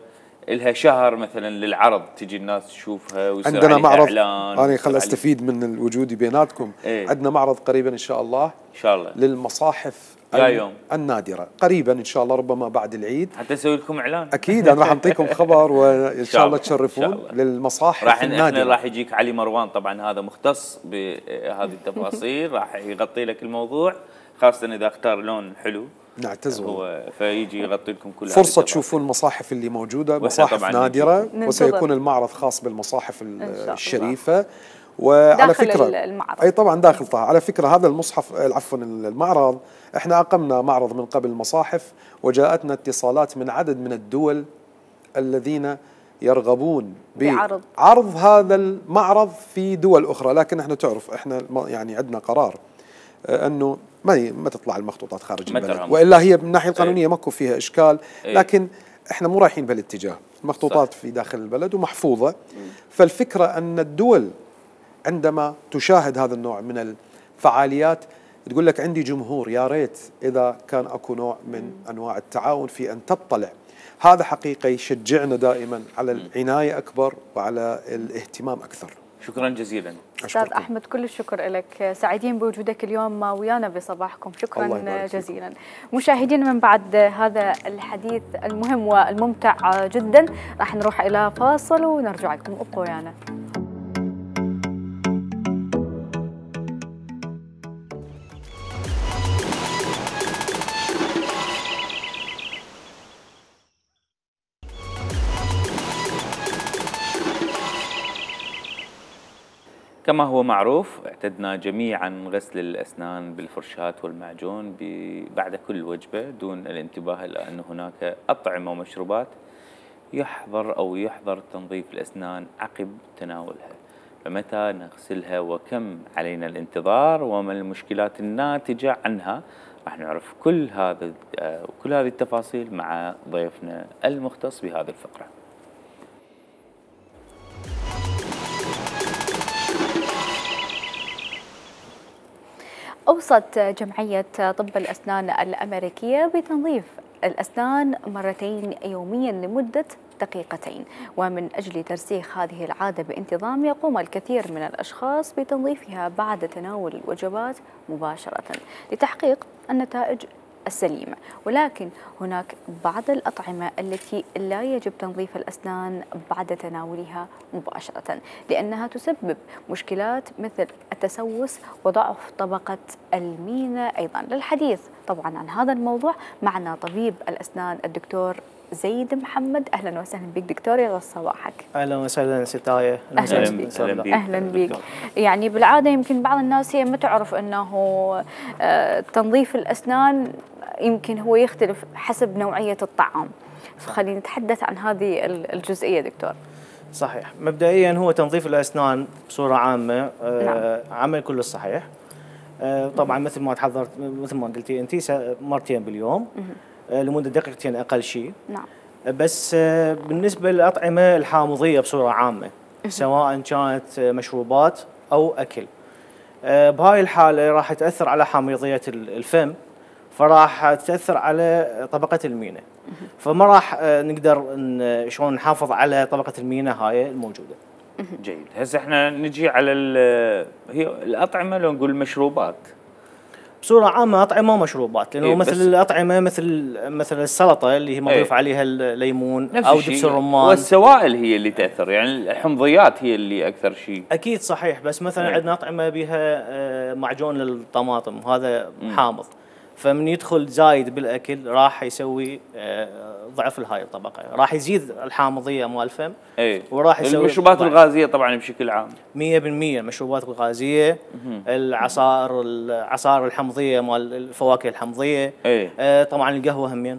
لها شهر مثلا للعرض، تجي الناس تشوفها ويصير عندنا معرض. إعلان. أنا خل أستفيد من وجودي بيناتكم. ايه؟ عندنا معرض قريبا إن شاء الله إن شاء الله للمصاحف يوم. النادرة قريبا إن شاء الله، ربما بعد العيد حتى نسوي لكم إعلان. أكيد أنا راح أعطيكم خبر وإن شاء الله تشرفون للمصاحف راح النادرة. راح يجيك علي مروان طبعا، هذا مختص بهذه التفاصيل راح يغطي لك الموضوع، خاصة إذا اختار لون حلو نعتز هو فيجي يغطي لكم كل فرصة تشوفون المصاحف اللي موجودة، مصاحف نادرة، وسيكون المعرض خاص بالمصاحف الشريفة. وعلى فكرة المعرض. أي طبعا داخل طه. على فكرة هذا المصحف عفوا المعرض احنا أقمنا معرض من قبل المصاحف وجاءتنا اتصالات من عدد من الدول الذين يرغبون بعرض عرض هذا المعرض في دول أخرى، لكن احنا تعرف احنا يعني عندنا قرار أنه ما ما تطلع المخطوطات خارج البلد، وإلا هي من الناحية القانونية ماكو فيها إشكال، لكن احنا مو رايحين بهالاتجاه. المخطوطات صح. في داخل البلد ومحفوظة. فالفكرة أن الدول عندما تشاهد هذا النوع من الفعاليات تقول لك عندي جمهور، يا ريت إذا كان أكو نوع من أنواع التعاون في أن تطلع. هذا حقيقة يشجعنا دائما على العناية أكبر وعلى الاهتمام أكثر. شكرا جزيلا أستاذ أحمد، كل الشكر لك، سعيدين بوجودك اليوم ويانا بصباحكم. شكرا جزيلا. مشاهدينا من بعد هذا الحديث المهم والممتع جدا راح نروح إلى فاصل ونرجع لكم، ابقوا ويانا. كما هو معروف اعتدنا جميعا غسل الأسنان بالفرشاة والمعجون بعد كل وجبة دون الانتباه إلى أن هناك أطعمة ومشروبات يحظر أو يحظر تنظيف الأسنان عقب تناولها. فمتى نغسلها وكم علينا الانتظار وما المشكلات الناتجة عنها؟ راح نعرف كل هذا كل هذه التفاصيل مع ضيفنا المختص بهذه الفقرة. أوصى وصت جمعية طب الأسنان الأمريكية بتنظيف الأسنان مرتين يوميا لمدة دقيقتين، ومن أجل ترسيخ هذه العادة بانتظام يقوم الكثير من الأشخاص بتنظيفها بعد تناول الوجبات مباشرة لتحقيق النتائج السليمة. ولكن هناك بعض الأطعمة التي لا يجب تنظيف الأسنان بعد تناولها مباشرة، لأنها تسبب مشكلات مثل التسوس وضعف طبقة المينا. أيضا للحديث طبعا عن هذا الموضوع معنا طبيب الأسنان الدكتور زيد محمد. أهلا وسهلا بك دكتور، يا صباحك. أهلا وسهلا ستاية. أهلا بك. أهلا بك. يعني بالعادة يمكن بعض الناس هي ما تعرف أنه تنظيف الأسنان يمكن هو يختلف حسب نوعية الطعام، فخلينا نتحدث عن هذه الجزئية دكتور. صحيح، مبدئيا هو تنظيف الأسنان بصورة عامة نعم. عمل كله صحيح. طبعا مثل ما تحضرت مثل ما قلتي أنت مرتين باليوم لمدة دقيقتين أقل شيء. نعم. بس بالنسبة للأطعمة الحامضية بصورة عامة سواء كانت مشروبات أو أكل، بهاي الحالة راح تأثر على حامضية الفم، فراح تأثر على طبقة المينا، فما راح نقدر شلون نحافظ على طبقة المينا هاي الموجودة. جيد. هسه احنا نجي على هي الأطعمة لو نقول مشروبات بصورة عامة، أطعمة ومشروبات، لأنه إيه مثل الأطعمة مثل مثل السلطة اللي هي مضيف إيه عليها الليمون أو دبس الرمان، والسوائل هي اللي تأثر، يعني الحمضيات هي اللي أكثر شيء. أكيد صحيح، بس مثلا إيه عندنا أطعمة بها معجون للطماطم، هذا حامض، فمن يدخل زايد بالأكل راح يسوي ضعف لهاي الطبقة، راح يزيد الحامضية مال الفم. ايه وراح يسوي المشروبات الغازية طبعا بشكل عام مية بالمية المشروبات الغازية، العصائر العصائر الحمضية مال الفواكه الحمضية. ايه آه طبعا القهوة همين،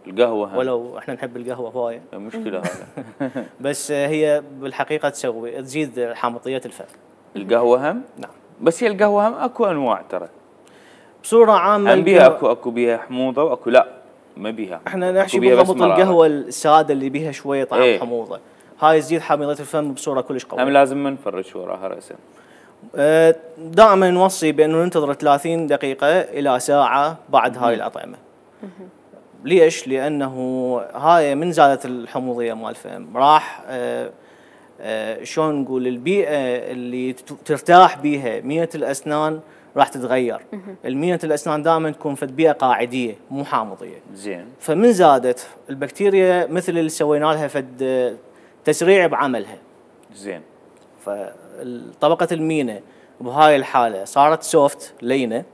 القهوة هم. ولو احنا نحب القهوة هواية مشكلة هذا بس هي بالحقيقة تسوي تزيد حامضية الفم. القهوة هم؟ نعم. بس هي القهوة هم اكو انواع ترى بصورة عامة، هم بيها اكو اكو بيها حموضة واكو لا ما بيها. احنا نحكي بالضبط القهوة السادة اللي بيها شوية طعم ايه حموضة، هاي تزيد حامضية الفم بصورة كلش قوية. هم لازم ما نفرش وراها رأسا. اه دائما نوصي بانه ننتظر ثلاثين دقيقة الى ساعة بعد هاي الأطعمة. ليش؟ لأنه هاي من زادت الحموضية مال الفم راح اه اه شلون نقول البيئة اللي ترتاح بيها مية الأسنان راح تتغير. المية الأسنان دائما تكون في بيئة قاعدية مو حامضية. زين. فمن زادت البكتيريا مثل اللي سوينا لها فد تسريع بعملها. زين. فطبقة المينا بهاي الحالة صارت سوفت لينة،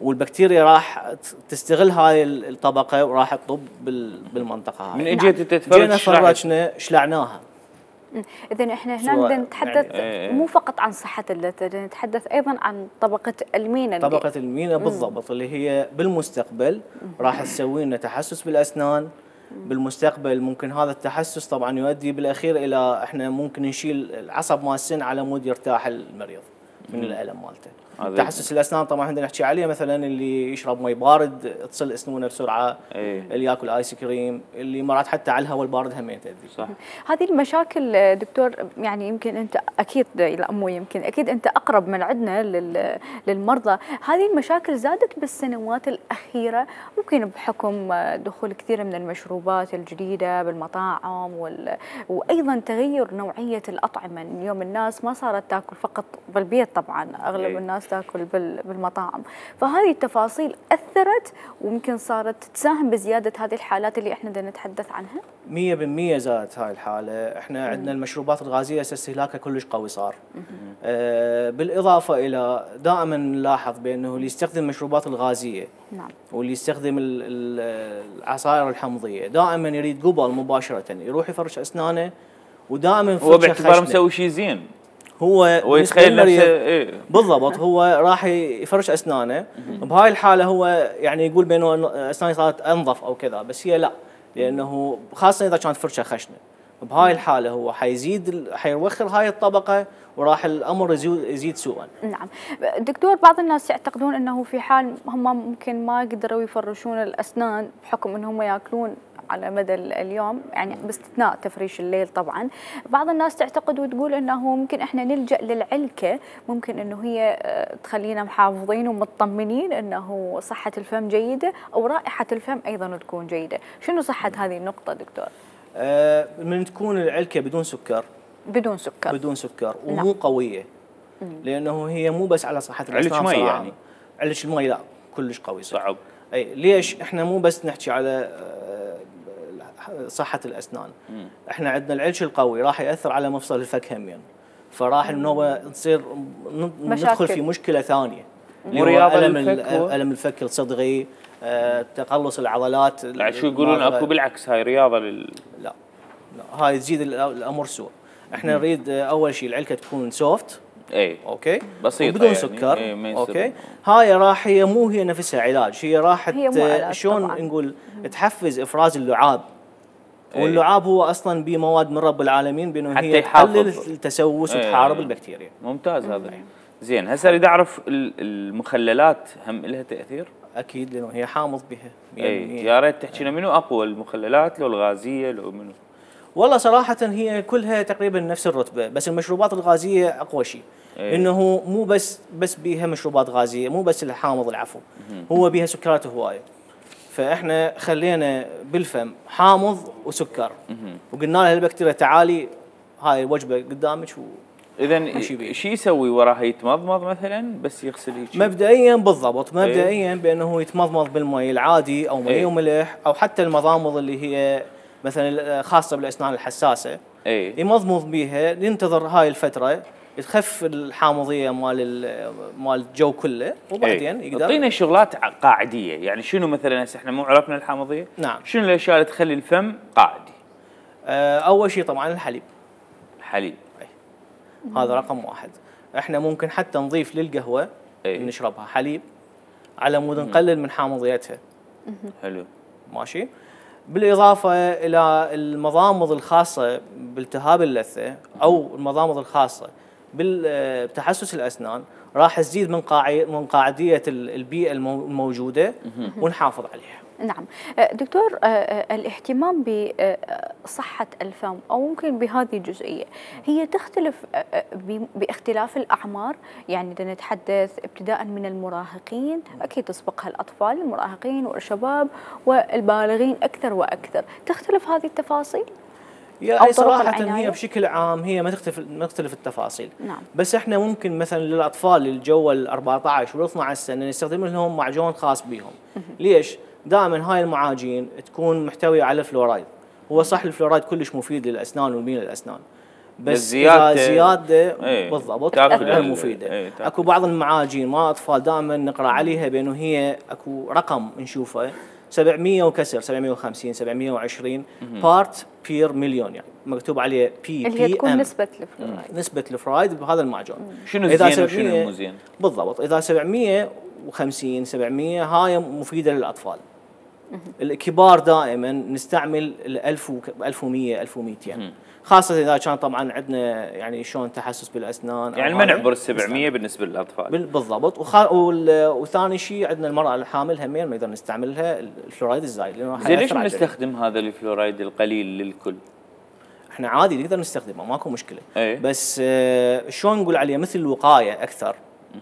والبكتيريا راح تستغل هاي الطبقة وراح تطب بالمنطقة هاي. من اجيت تتفرج جينا فرجنا شلعناها. إذن احنا هنا بدنا نتحدث يعني مو فقط عن صحة اللثة، بدنا نتحدث أيضا عن طبقة المينا. طبقة المينا بالضبط، اللي هي بالمستقبل راح تسوي لنا تحسس بالأسنان. بالمستقبل ممكن هذا التحسس طبعا يؤدي بالأخير إلى احنا ممكن نشيل العصب مال السن على مود يرتاح المريض من الألم مالته. تحسس الاسنان طبعا بدنا نحكي عليه، مثلا اللي يشرب مي بارد تصل اسنونه بسرعه، ايه. اللي ياكل ايس كريم، اللي مرات حتى على الهواء البارد هم تاذي. صح. هذه المشاكل دكتور يعني يمكن انت اكيد، لا مو يمكن اكيد انت اقرب من عندنا للمرضى، هذه المشاكل زادت بالسنوات الاخيره ممكن بحكم دخول كثير من المشروبات الجديده بالمطاعم وال... وايضا تغير نوعيه الاطعمه. اليوم الناس ما صارت تاكل فقط بالبيت، طبعا اغلب ايه. الناس تاكل بالمطاعم، فهذه التفاصيل اثرت ويمكن صارت تساهم بزياده هذه الحالات اللي احنا بدنا نتحدث عنها. مية بالمية زادت هاي الحاله، احنا عندنا المشروبات الغازيه استهلاكها كلش قوي صار. آه بالاضافه الى دائما نلاحظ بانه اللي يستخدم المشروبات الغازيه نعم واللي يستخدم العصائر الحمضيه دائما يريد قبل مباشره يروح يفرش اسنانه، ودائما هو باعتباره مسوي شيء زين، هو هو يتخيل نفسه ايه بالضبط، هو راح يفرش اسنانه بهاي الحاله، هو يعني يقول بانه اسناني صارت انظف او كذا، بس هي لا، لانه خاصه اذا كانت فرشه خشنه بهاي الحاله هو حيزيد حيوخر هاي الطبقه وراح الامر يزيد سوءا. نعم دكتور، بعض الناس يعتقدون انه في حال هم ممكن ما قدروا يفرشون الاسنان بحكم انهم ياكلون على مدى اليوم، يعني باستثناء تفريش الليل طبعا. بعض الناس تعتقد وتقول انه ممكن احنا نلجأ للعلكة، ممكن انه هي تخلينا محافظين ومطمنين انه صحة الفم جيدة او رائحة الفم ايضا تكون جيدة. شنو صحة هذه النقطة دكتور؟ آه من تكون العلكة بدون سكر، بدون سكر بدون سكر ومو نعم. قوية، لانه هي مو بس على صحة الاسنان. علك مي يعني؟ علك المي لا كلش قوي صعب. اي ليش احنا مو بس نحكي على صحة الاسنان، مم. احنا عندنا العلش القوي راح ياثر على مفصل الفك همين، فراح النوبة تصير ندخل في مشكلة ثانية، مو رياضة ألم الفك هو؟ ألم الفك الصدغي، آه، تقلص العضلات. لا شو يقولون اكو بالعكس هاي رياضة لل... لا لا هاي تزيد الامور سوء. احنا نريد اول شيء العلكة تكون سوفت، اي اوكي بسيطة بدون يعني. سكر، ايه اوكي. هاي راح هي مو هي نفسها علاج، هي راح شلون نقول تحفز افراز اللعاب، ايه. واللعاب هو اصلا بمواد من رب العالمين بانه هي تقلل التسوس ايه. وتحارب البكتيريا. ممتاز هذا. ايه. زين هسه اريد اعرف المخللات هم لها تاثير؟ اكيد لانه هي حامض بها. اي يا ريت تحكي لنا منو اقوى، المخللات لو الغازيه لو منو؟ والله صراحة هي كلها تقريبا نفس الرتبة، بس المشروبات الغازية أقوى شيء. إيه؟ إنه مو بس بس بيها مشروبات غازية، مو بس الحامض العفو، هو بيها سكرات هواية. فإحنا خلينا بالفم حامض وسكر، وقلنا لها البكتيريا تعالي هاي الوجبة قدامك. إذا شو يسوي وراها؟ يتمضمض مثلا بس يغسل هيك؟ مبدئيا بالضبط، مبدئيا إيه؟ بأنه يتمضمض بالمي العادي أو مي إيه؟ وملح، أو حتى المضامض اللي هي مثلا خاصه بالاسنان الحساسه، اي يمضمض بيها، ينتظر هاي الفتره تخف الحامضيه مال مال الجو كله، وبعدين ايه. يقدر. اعطينا شغلات قاعديه، يعني شنو مثلا هسه احنا مو عرفنا الحامضيه؟ نعم. شنو الاشياء اللي تخلي الفم قاعدي؟ آه اول شيء طبعا الحليب. الحليب اي هذا رقم واحد. احنا ممكن حتى نضيف للقهوه ايه؟ نشربها حليب على مود نقلل من حامضيتها. حلو ماشي. بالإضافة إلى المضامض الخاصة بالتهاب اللثة أو المضامض الخاصة بتحسس الأسنان راح تزيد من من قاعدية البيئة الموجودة ونحافظ عليها. نعم دكتور، الاهتمام بصحة الفم أو ممكن بهذه الجزئية هي تختلف باختلاف الأعمار، يعني إذا نتحدث ابتداء من المراهقين أكيد تسبقها الأطفال، المراهقين والشباب والبالغين أكثر وأكثر، تختلف هذه التفاصيل؟ يعني صراحة هي بشكل عام هي ما تختلف ما تختلف التفاصيل. نعم. بس احنا ممكن مثلا للأطفال الجو ال أربعة عشر وال اثني عشر سنة نستخدم لهم معجون خاص بهم. ليش؟ دائما هاي المعاجين تكون محتوية على فلورايد. هو صح الفلورايد كلش مفيد للأسنان ومين الأسنان، بس زيادة إذا زيادة ايه بالضبط غير مفيدة. ايه اكو بعض المعاجين مع الأطفال دائما نقرأ عليها بأنه هي اكو رقم نشوفه سبعمية وكسر، سبعمية وخمسين سبعمية وعشرين بارت بير مليون، يعني مكتوب عليه بي بي اللي هي تكون نسبة الفلورايد. نسبة الفلورايد بهذا المعجون. شنو الزين وشنو المو بالضبط. إذا سبعمية وخمسين سبعمية هاي مفيدة للأطفال. الكبار دائما نستعمل ال ألف ألف ومية ألف ومئتين، خاصة إذا كان طبعا عندنا يعني شلون تحسس بالأسنان، يعني ما نعبر ال سبعمية بالنسبة للأطفال. بالضبط. وخ... وثاني شيء عندنا المرأة الحامل همين نقدر نستعملها الفلورايد الزايد، لأنه زين ليش ما نستخدم هذا الفلورايد القليل للكل؟ احنا عادي نقدر نستخدمه ماكو مشكلة. ايه؟ بس آه شلون نقول عليه مثل الوقاية أكثر.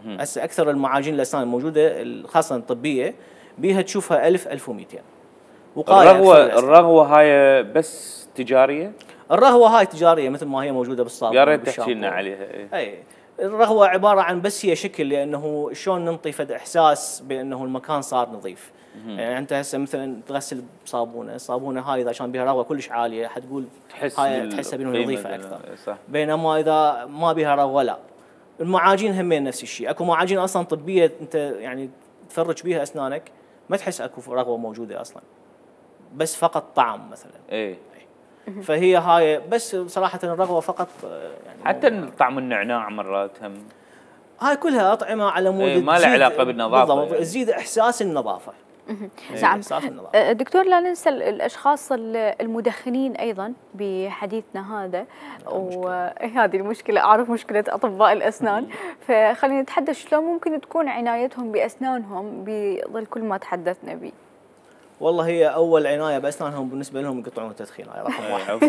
هسه أكثر المعاجين الأسنان الموجودة خاصة الطبية بيها تشوفها ألف ألف ومئتين. الرغوة الرغوة هاي بس تجارية؟ الرغوة هاي تجارية مثل ما هي موجودة بالصابون. يا ريت تحكي لنا عليها. ايه؟ اي الرغوة عبارة عن بس هي شكل، لأنه شلون ننطي فد إحساس بأنه المكان صار نظيف. يعني أنت هسه مثلا تغسل بصابونة، الصابونة هاي إذا كان بها رغوة كلش عالية حتقول تحس هاي تحسها بأنه نظيفة أكثر. صح. بينما إذا ما بها رغوة لا. المعاجين همين نفس الشيء، اكو معاجين اصلا طبيه انت يعني تفرج بيها اسنانك ما تحس اكو رغوه موجوده اصلا، بس فقط طعم مثلا. ايه. فهي هاي بس صراحه الرغوه فقط يعني حتى طعم النعناع مرات هم هاي كلها اطعمه على مود ايه ما لها علاقه بالنظافه بالضبط يعني. تزيد احساس النظافه. نعم. دكتور لا ننسى الاشخاص المدخنين ايضا بحديثنا هذا، وهذه المشكله اعرف مشكله اطباء الاسنان، فخلينا نتحدث شلون ممكن تكون عنايتهم باسنانهم بظل كل ما تحدثنا به. والله هي اول عنايه باسنانهم بالنسبه لهم يقطعون التدخين، هاي رقم واحد. عفوا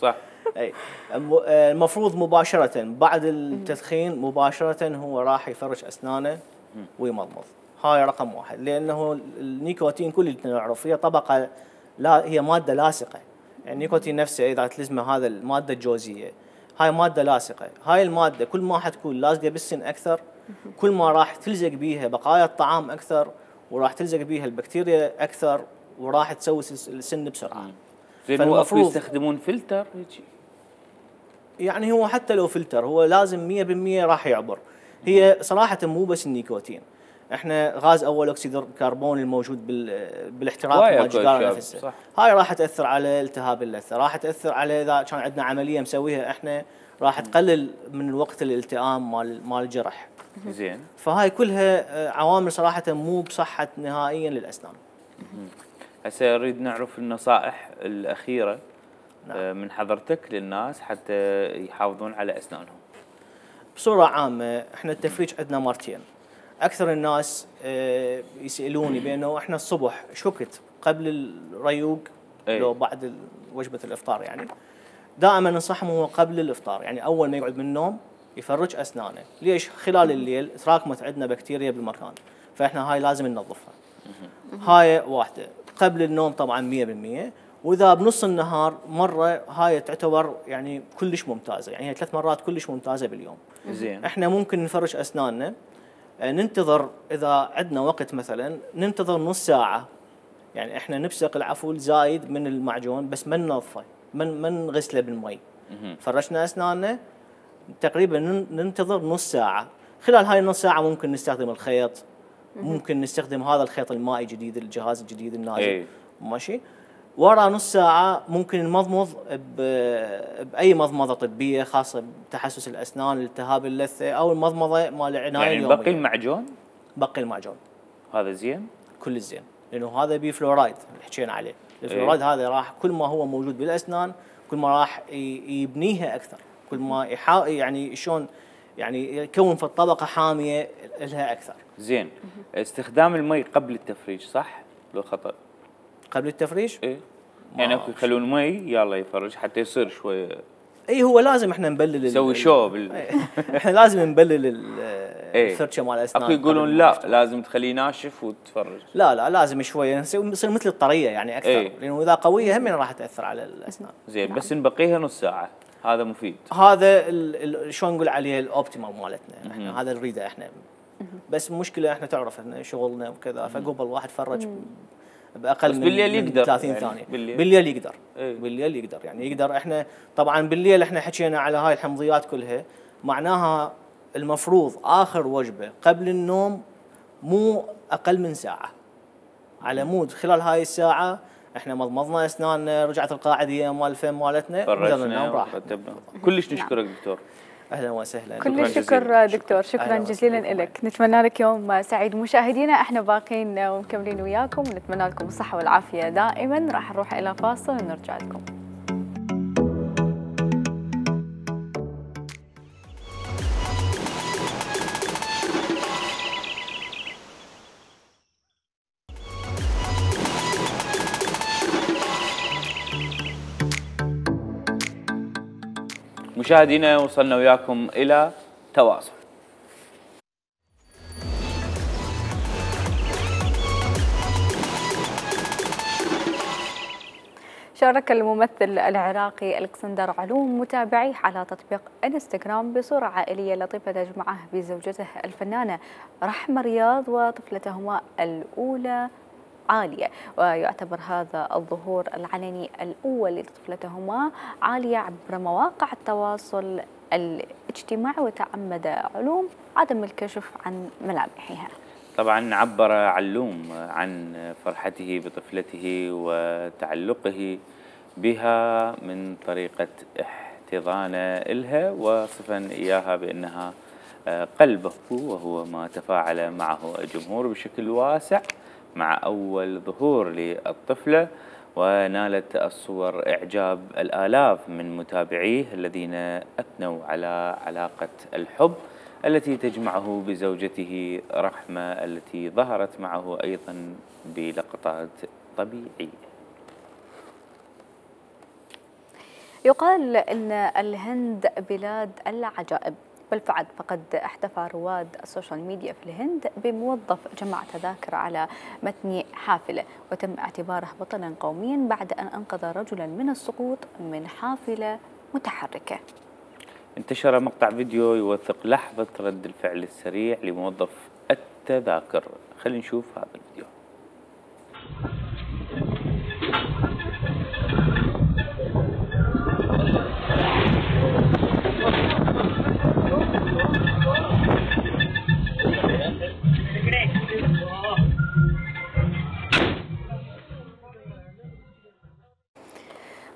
صح. اي المفروض مباشره بعد التدخين مباشره هو راح يفرش اسنانه ويمضمض، هاي رقم واحد. لانه النيكوتين كل اللي نعرف هي طبقه، لا هي ماده لاصقه، يعني النيكوتين نفسه اذا تلزمه هذا الماده الجوزيه، هاي ماده لاصقه، هاي الماده كل ما حتكون لازقه بالسن اكثر كل ما راح تلزق بيها بقايا الطعام اكثر، وراح تلزق بيها البكتيريا اكثر، وراح تسوي السن بسرعه. زين هو اكو يستخدمون فلتر هيك؟ يعني هو حتى لو فلتر هو لازم مية بالمية راح يعبر. هي صراحه مو بس النيكوتين، احنا غاز اول اكسيد الكربون الموجود بالاحتراق مال السيجاره نفسها، هاي راح تاثر على التهاب اللثه، راح تاثر على اذا كان عندنا عمليه مسويها احنا راح تقلل من وقت الالتئام مال مال الجرح. زين. فهاي كلها عوامل صراحه مو بصحه نهائيا للاسنان. هسه نريد نعرف النصائح الاخيره نعم. من حضرتك للناس حتى يحافظون على اسنانهم. بصوره عامه احنا التفريج عندنا مرتين. اكثر الناس يسالوني بانه احنا الصبح ايش وقت قبل الريوق لو بعد وجبه الافطار، يعني دائما ننصحهم هو قبل الافطار، يعني اول ما يقعد من النوم يفرج اسنانه. ليش؟ خلال الليل تراكمت عندنا بكتيريا بالمكان، فاحنا هاي لازم ننظفها. هاي واحده. قبل النوم طبعا مية بالمية، واذا بنص النهار مره هاي تعتبر يعني كلش ممتازه، يعني هي ثلاث مرات كلش ممتازه باليوم. زين. احنا ممكن نفرش اسناننا، ننتظر اذا عندنا وقت مثلا ننتظر نص ساعه، يعني احنا نبسق العفول زايد من المعجون بس ما ننظفه، من ما نغسله بالمي. فرشنا اسناننا تقريبا ننتظر نص ساعه، خلال هاي النص ساعه ممكن نستخدم الخيط، ممكن نستخدم هذا الخيط المائي الجديد الجهاز الجديد النازل. ايه. ماشي. ورا نص ساعه ممكن نمضمض باي مضمضه طبيه خاصه بتحسس الاسنان، التهاب اللثه، او المضمضه مال العنايه يعني اليوميه. بقي المعجون؟ بقي المعجون هذا زين؟ كل الزين، لانه هذا بيه فلورايد اللي حكينا عليه. الفلورايد ايه؟ هذا راح كل ما هو موجود بالاسنان كل ما راح يبنيها اكثر، كل ما يحاول يعني شلون يعني يكون في الطبقه حاميه لها اكثر. زين. استخدام المي قبل التفريج صح لو خطا؟ قبل التفريج؟ ايه. يعني اكو يخلون مي يلا يفرج حتى يصير شويه. اي هو لازم احنا نبلل نسوي شو بال... احنا لازم نبلل الفرشه مال الاسنان. اكو يقولون لا لازم تخليه ناشف وتفرج. لا لا لازم شويه يصير مثل الطريه يعني اكثر. ايه؟ لانه اذا قويه هم راح تاثر على الاسنان. زين. نعم. بس نبقيها نص ساعه هذا مفيد. هذا شلون نقول عليه الاوبتيمال مالتنا احنا، هذا نريده احنا. بس المشكله احنا تعرف احنا شغلنا وكذا، فقبل واحد فرج باقل بس من بالليل يقدر ثلاثين يعني ثانيه. بالليل, بالليل يقدر. ايه؟ بالليل يقدر يعني يقدر. احنا طبعا بالليل احنا حكينا على هاي الحمضيات كلها، معناها المفروض اخر وجبه قبل النوم مو اقل من ساعه، على مود خلال هاي الساعه احنا مضمضنا اسناننا، رجعت القاعديه مال الفم مالتنا، قدرنا ننام راحه. كلش نشكرك دكتور. اهلا وسهلا. كل الشكر دكتور، شكرا جزيلا لك. نتمنى لك يوم سعيد. مشاهدينا احنا باقين ومكملين وياكم، ونتمنى لكم الصحه والعافيه دائما. راح نروح الى فاصل ونرجع لكم. مشاهدينا وصلنا وياكم إلى تواصل. شارك الممثل العراقي الكسندر علوم متابعيه على تطبيق انستغرام بصورة عائلية لطيفة تجمعه بزوجته الفنانة رحمة رياض وطفلتهما الأولى عالية. ويعتبر هذا الظهور العلني الأول لطفلتهما عالية عبر مواقع التواصل الاجتماعي، وتعمد علوم عدم الكشف عن ملامحها. طبعا عبر علوم عن فرحته بطفلته وتعلقه بها من طريقة احتضانه إلها، وصفا إياها بأنها قلبه، وهو ما تفاعل معه الجمهور بشكل واسع مع أول ظهور للطفلة، ونالت الصور إعجاب الآلاف من متابعيه الذين أثنوا على علاقة الحب التي تجمعه بزوجته رحمة التي ظهرت معه أيضا بلقطات طبيعية. يقال أن الهند بلاد العجائب، بالفعل فقد احتفى رواد السوشيال ميديا في الهند بموظف جمع تذاكر على متن حافلة وتم اعتباره بطلا قوميا بعد أن أنقذ رجلا من السقوط من حافلة متحركة. انتشر مقطع فيديو يوثق لحظة رد الفعل السريع لموظف التذاكر. خلينا نشوف هذا الفيديو.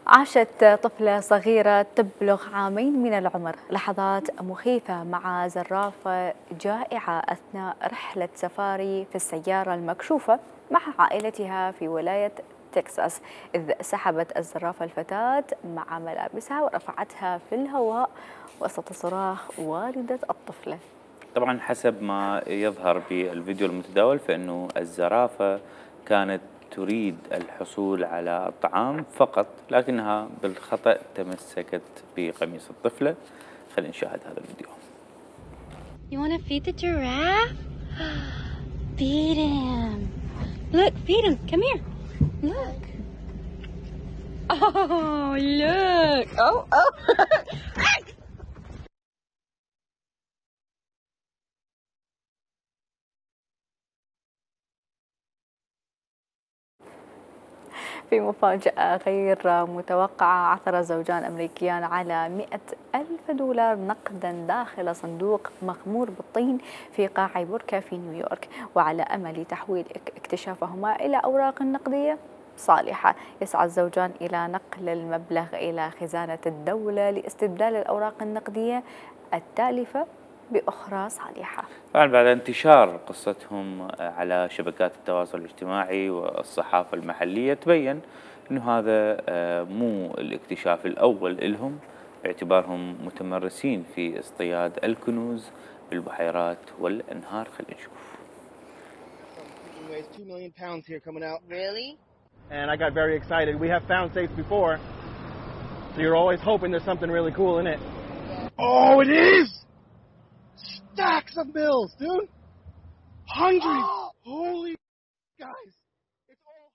عاشت طفلة صغيرة تبلغ عامين من العمر لحظات مخيفة مع زرافة جائعة أثناء رحلة سفاري في السيارة المكشوفة مع عائلتها في ولاية تكساس، إذ سحبت الزرافة الفتاة مع ملابسها ورفعتها في الهواء وسط صراخ والدة الطفلة. طبعا حسب ما يظهر بالفيديو المتداول فإنه الزرافة كانت تريد الحصول على الطعام فقط، لكنها بالخطأ تمسكت بقميص الطفلة. خلينا نشاهد هذا الفيديو. You want to feed the giraffe? Feed him. Look, feed him. Come here. Look. Oh, look. Oh, oh. في مفاجأة غير متوقعة، عثر زوجان أمريكيان على مئة ألف دولار نقدا داخل صندوق مغمور بالطين في قاع بركة في نيويورك، وعلى أمل تحويل اكتشافهما إلى أوراق نقدية صالحة. يسعى الزوجان إلى نقل المبلغ إلى خزانة الدولة لاستبدال الأوراق النقدية التالفة بأخرى صالحة. طبعا بعد انتشار قصتهم على شبكات التواصل الاجتماعي والصحافة المحلية تبين أنه هذا مو الاكتشاف الأول لهم، باعتبارهم متمرسين في اصطياد الكنوز بالبحيرات والأنهار. خلينا نشوف. Weighs two million pounds here coming out. Really? And I got very excited. We have found safes before, so you're always hoping there's something really cool in it. Oh, it is! Stacks of bills, dude! Hundreds! Holy guys! It's all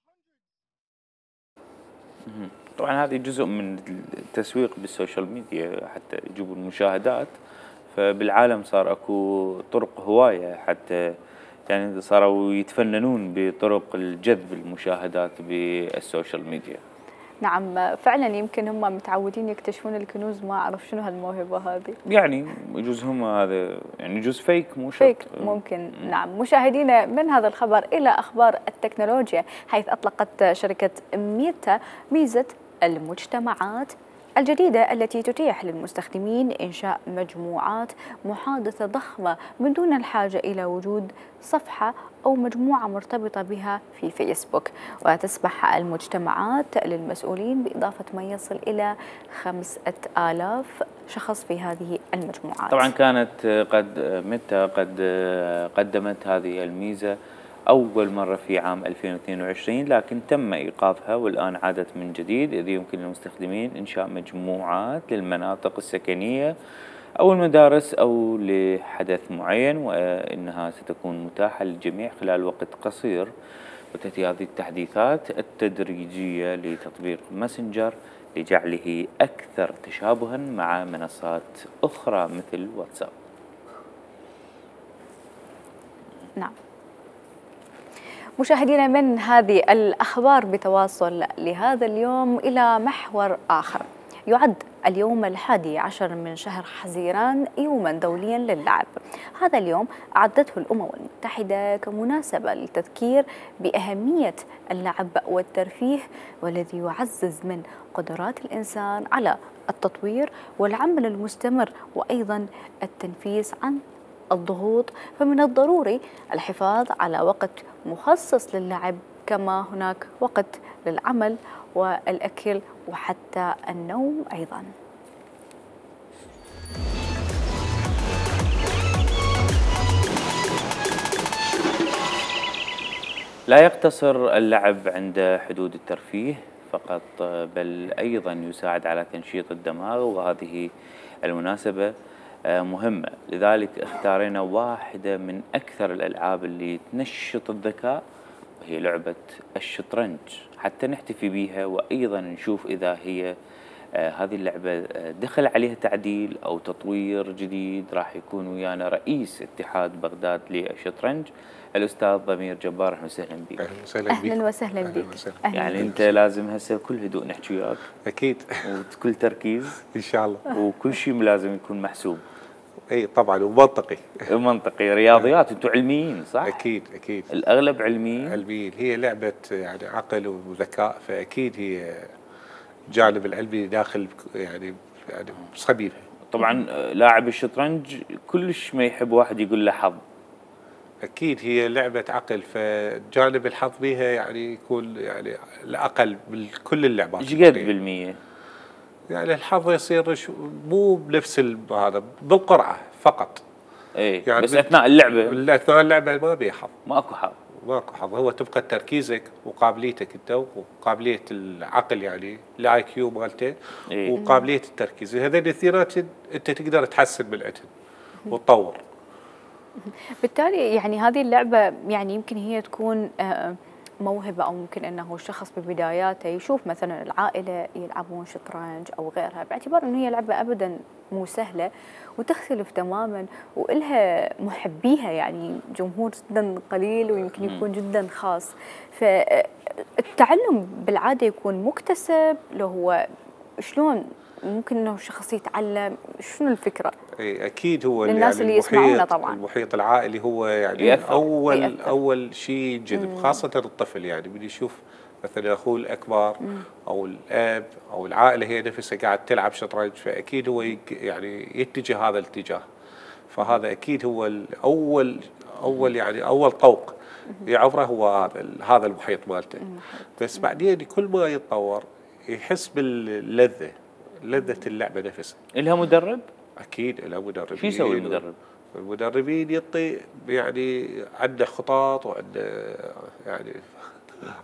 hundreds! طبعا هذه جزء من التسويق بالسوشيال ميديا حتى يجيبوا المشاهدات، فبالعالم صار اكو طرق هواية حتى يعني صاروا يتفننون بطرق الجذب المشاهدات بالسوشيال ميديا. نعم فعلا، يمكن هم متعودين يكتشفون الكنوز، ما أعرف شنو هالموهبة هذه. يعني يجوز هم هذا يعني يجوز فيك مو شرط. فيك ممكن. م. نعم. مشاهدينا، من هذا الخبر إلى أخبار التكنولوجيا، حيث أطلقت شركة ميتا ميزة المجتمعات الجديدة التي تتيح للمستخدمين إنشاء مجموعات محادثة ضخمة من دون الحاجة إلى وجود صفحة أو مجموعة مرتبطة بها في فيسبوك، وتسمح المجتمعات للمسؤولين بإضافة ما يصل إلى خمسة آلاف شخص في هذه المجموعات. طبعا كانت قد ميتا قد قدمت هذه الميزة أول مرة في عام ألفين واثنين وعشرين، لكن تم إيقافها والآن عادت من جديد، إذ يمكن للمستخدمين إنشاء مجموعات للمناطق السكنية أو المدارس أو لحدث معين، وإنها ستكون متاحة للجميع خلال وقت قصير. وتأتي هذه التحديثات التدريجية لتطبيق ماسنجر لجعله أكثر تشابها مع منصات أخرى مثل واتساب. نعم. مشاهدينا، من هذه الأخبار بتواصل لهذا اليوم إلى محور آخر. يعد اليوم الحادي عشر من شهر حزيران يوما دوليا للعب. هذا اليوم أعدته الأمم المتحدة كمناسبة للتذكير بأهمية اللعب والترفيه، والذي يعزز من قدرات الإنسان على التطوير والعمل المستمر وأيضا التنفيس عن الضغوط. فمن الضروري الحفاظ على وقت مخصص للعب، كما هناك وقت للعمل والأكل وحتى النوم أيضا. لا يقتصر اللعب عند حدود الترفيه فقط، بل أيضا يساعد على تنشيط الدماغ، وهذه المناسبة مهمة. لذلك اختارينا واحدة من أكثر الألعاب اللي تنشط الذكاء، وهي لعبة الشطرنج، حتى نحتفي بها وأيضا نشوف إذا هي آه هذه اللعبة دخل عليها تعديل أو تطوير جديد. راح يكون ويانا رئيس اتحاد بغداد للشطرنج الأستاذ ضمير جبار. أهلا وسهلا بك. أهلا وسهلا بك. أهلا وسهلا بك. يعني أنت لازم هسه بكل هدوء نحكي وياك. أكيد. وبكل تركيز. إن شاء الله. وكل شيء لازم يكون محسوب. اي طبعا ومنطقي. منطقي. رياضيات، انتم علميين صح؟ اكيد اكيد. الاغلب علميين. علميين، هي لعبه يعني عقل وذكاء، فاكيد هي جانب العلمي داخل يعني يعني صبيبها. طبعا لاعب الشطرنج كلش ما يحب واحد يقول له حظ. اكيد هي لعبه عقل، فجانب الحظ بها يعني يكون يعني الاقل من كل اللعبات. ايش قد بالمية؟ يعني الحظ يصير مو بنفس هذا، بالقرعه فقط. اي يعني بس اثناء اللعبه اثناء اللعبه ما بيها حظ. ماكو حظ. ماكو حظ، هو تبقى تركيزك وقابليتك انت وقابليه العقل يعني الاي كيو مالته إيه؟ وقابليه التركيز، هذول الاثنينات انت تقدر تحسن من عندهم وتطور. بالتالي يعني هذه اللعبه يعني يمكن هي تكون موهبة، أو ممكن أنه الشخص ببداياته يشوف مثلا العائلة يلعبون شطرنج أو غيرها، باعتبار أنه هي لعبة أبدا مو سهلة وتختلف تماما وإلها محبيها، يعني جمهور جدا قليل ويمكن يكون جدا خاص. فالتعلم بالعادة يكون مكتسب، لو هو شلون ممكن انه الشخص يتعلم؟ شنو الفكره؟ اي اكيد هو للناس يعني اللي يسمعونا طبعا المحيط العائلي هو يعني يأثر. اول يأثر. اول شيء ينجذب، خاصه الطفل يعني من يشوف مثلا اخوه الاكبر مم. او الاب او العائله هي نفسها قاعد تلعب شطرنج، فاكيد هو يعني يتجه هذا الاتجاه. فهذا اكيد هو الاول اول يعني اول طوق يعبره هو هذا هذا المحيط مالته. بس بعدين كل ما يتطور يحس باللذه، لذة اللعبة نفسها. إلها مدرب؟ أكيد إلها مدرب. شو يسوي المدرب؟ المدربين يعطي يعني عنده خطط وعنده يعني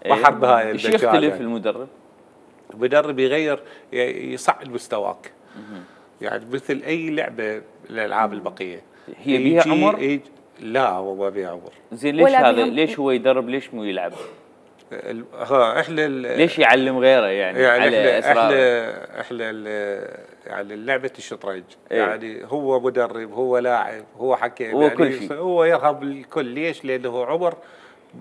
بحر بهاي ايش يختلف يعني. المدرب؟ المدرب يغير يصعد مستواك. يعني مثل أي لعبة من الألعاب البقية. هي بيها عمر؟ يجي لا هو ما بيها عمر. زين ليش هذا؟ ليش هو يدرب ليش مو يلعب؟ ها احنا ليش يعلم غيره يعني, يعني على احنا احنا احنا يعني لعبه الشطرنج ايه؟ يعني هو مدرب، هو لاعب، هو حكيم، هو يعني كل شيء، هو يرهب الكل. ليش؟ لانه عمر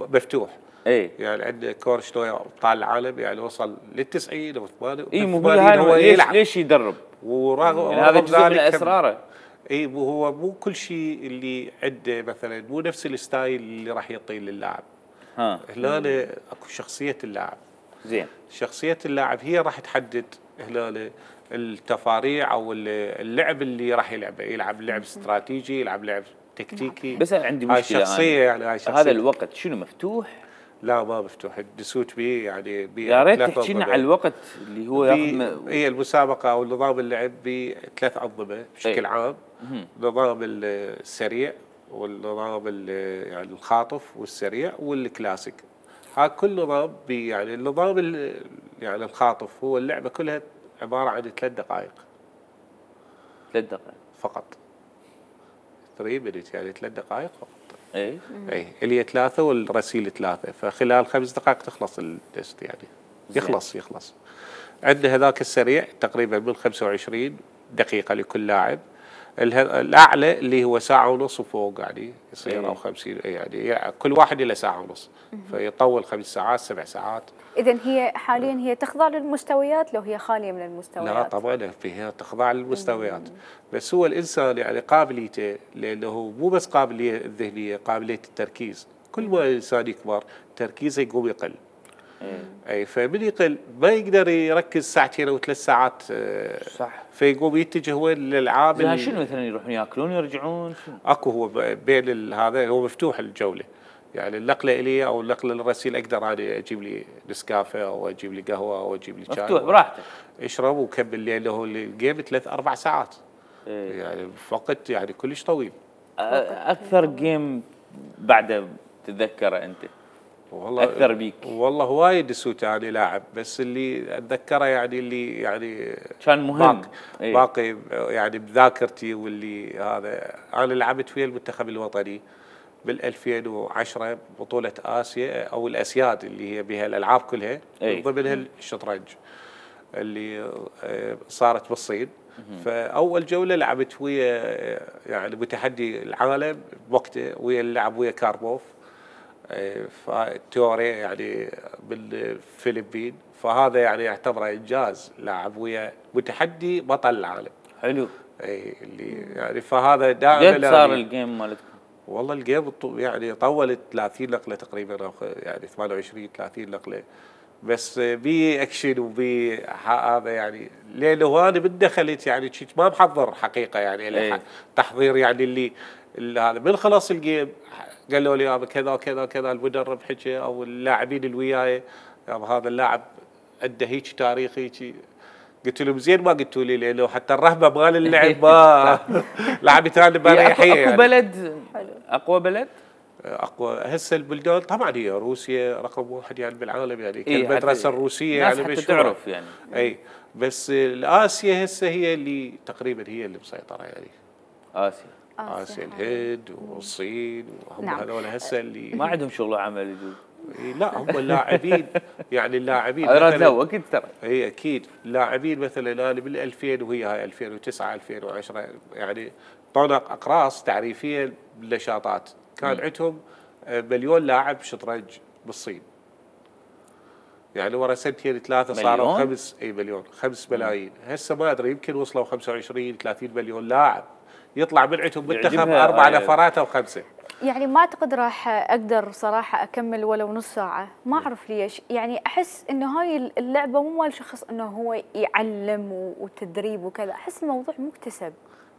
مفتوح. ايه يعني عندنا كورشنوي ابطال العالم يعني وصل للتسعين او ثمانين. اي مو هو ليش ليش يدرب؟ ورغم يعني هذا جزء من اسراره. اي هو مو كل شيء اللي عنده مثلا مو نفس الستايل اللي راح يعطيه للاعب. ها هنا اكو شخصيه اللاعب. زين شخصيه اللاعب هي راح تحدد هنا التفاريع او اللعب اللي راح يلعبه، يلعب لعب استراتيجي، يلعب لعب تكتيكي. بس عندي مشكله هاي شخصيه يعني هاي شخصيه. هذا الوقت شنو مفتوح؟ لا ما مفتوح، الدسوت به يعني بي يا ريت تحكي لنا على الوقت اللي هو ياخذ. هي المسابقه او نظام اللعب بثلاث انظمه بشكل ايه؟ عام نظام السريع والنظام يعني الخاطف والسريع والكلاسيك. ها كل نظام يعني النظام يعني الخاطف هو اللعبه كلها عباره عن ثلاث دقائق. ثلاث دقائق فقط. ثلاث مينت يعني ثلاث دقائق فقط. اي اي اللي هي ثلاثه والرسيل ثلاثه، فخلال خمس دقائق تخلص التست يعني. يخلص يخلص. عندنا هذاك السريع تقريبا من خمسة وعشرين دقيقه لكل لاعب. الاعلى اللي هو ساعه ونص وفوق يعني يصير او خمسين يعني, يعني كل واحد له ساعه ونص فيطول خمس ساعات سبع ساعات. اذا هي حاليا هي تخضع للمستويات لو هي خاليه من المستويات؟ لا طبعا فيها تخضع للمستويات. بس هو الانسان يعني قابليته لانه مو بس قابليه الذهنيه، قابليه التركيز. كل ما الانسان يكبر تركيزه يقوم يقل. اي فمن يقل ما يقدر يركز ساعتين او ثلاث ساعات. صح. فيقوم يتجه هو للالعاب. لا شنو مثلا يروحون ياكلون يرجعون؟ شنو؟ اكو هو بين هذا هو مفتوح الجوله. يعني النقله الي او النقله للرسيل اقدر انا اجيب لي نسكافيه او اجيب لي قهوه او اجيب لي شاي. مفتوح براحتك. اشرب وكمل لانه الجيم ثلاث اربع ساعات. إيه. يعني وقت يعني كلش طويل. اكثر جيم بعده تتذكره انت؟ والله اثر بيك؟ والله وايد سوتاني لاعب، بس اللي اتذكره يعني اللي يعني كان مهم باقي, إيه؟ باقي يعني بذاكرتي، واللي هذا انا لعبت فيه المنتخب الوطني بال ألفين وعشرة بطولة آسيا أو الأسياد اللي هي بها الألعاب كلها، من ضمنها الشطرنج اللي صارت بالصين. فأول جولة لعبت ويا يعني متحدي العالم بوقته، ويا اللعب ويا كاربوف تيوري يعني بالفلبين، فهذا يعني يعتبره إنجاز، لاعب ويا متحدي بطل العالم. حلو. اي اللي يعني فهذا دائما قد صار الجيم مالتكم؟ والله الجيم يعني طولت ثلاثين نقله تقريبا، يعني ثمانية وعشرين ثلاثين نقله، بس بي اكشن وبي هذا يعني، لانه انا من دخلت يعني كنت ما محضر حقيقه يعني ايه. تحضير يعني اللي, اللي هذا من خلاص الجيم قالوا لي يابا كذا وكذا وكذا، المدرب حكى او اللاعبين اللي وياي يابا هذا اللاعب عنده هيك تاريخ هيك. قلت لهم زين ما قلتوا لي، لانه حتى الرهبه مال اللعب ما لعبت انا بريحيه. اكو بلد اقوى بلد؟ اقوى هسه البلدان طبعا هي روسيا رقم واحد يعني بالعالم، يعني إيه المدرسه الروسيه يعني مش تعرف يعني. اي بس الاسيا هسه هي اللي تقريبا هي اللي مسيطره يعني. اسيا اسيا الهند والصين وهم نعم. هذول هسه اللي ما عندهم شغل عمل يجوز. لا هم اللاعبين يعني اللاعبين مثلا اكيد ترى اي اكيد اللاعبين مثلا انا بال ألفين وهي هاي ألفين وتسعة ألفين وعشرة يعني طونا اقراص تعريفيه بالنشاطات، كان عندهم مليون لاعب شطرنج بالصين. يعني ورا سنتين ثلاثه صاروا خمس اي مليون خمس ملايين، هسه ما ادري يمكن وصلوا خمسة وعشرين ثلاثين مليون لاعب، يطلع من عندهم منتخب اربع نفرات او خمسه. يعني ما اعتقد راح اقدر صراحه اكمل ولو نص ساعه، ما اعرف ليش، يعني احس انه هاي اللعبه مو مال شخص انه هو يعلم وتدريب وكذا، احس الموضوع مكتسب.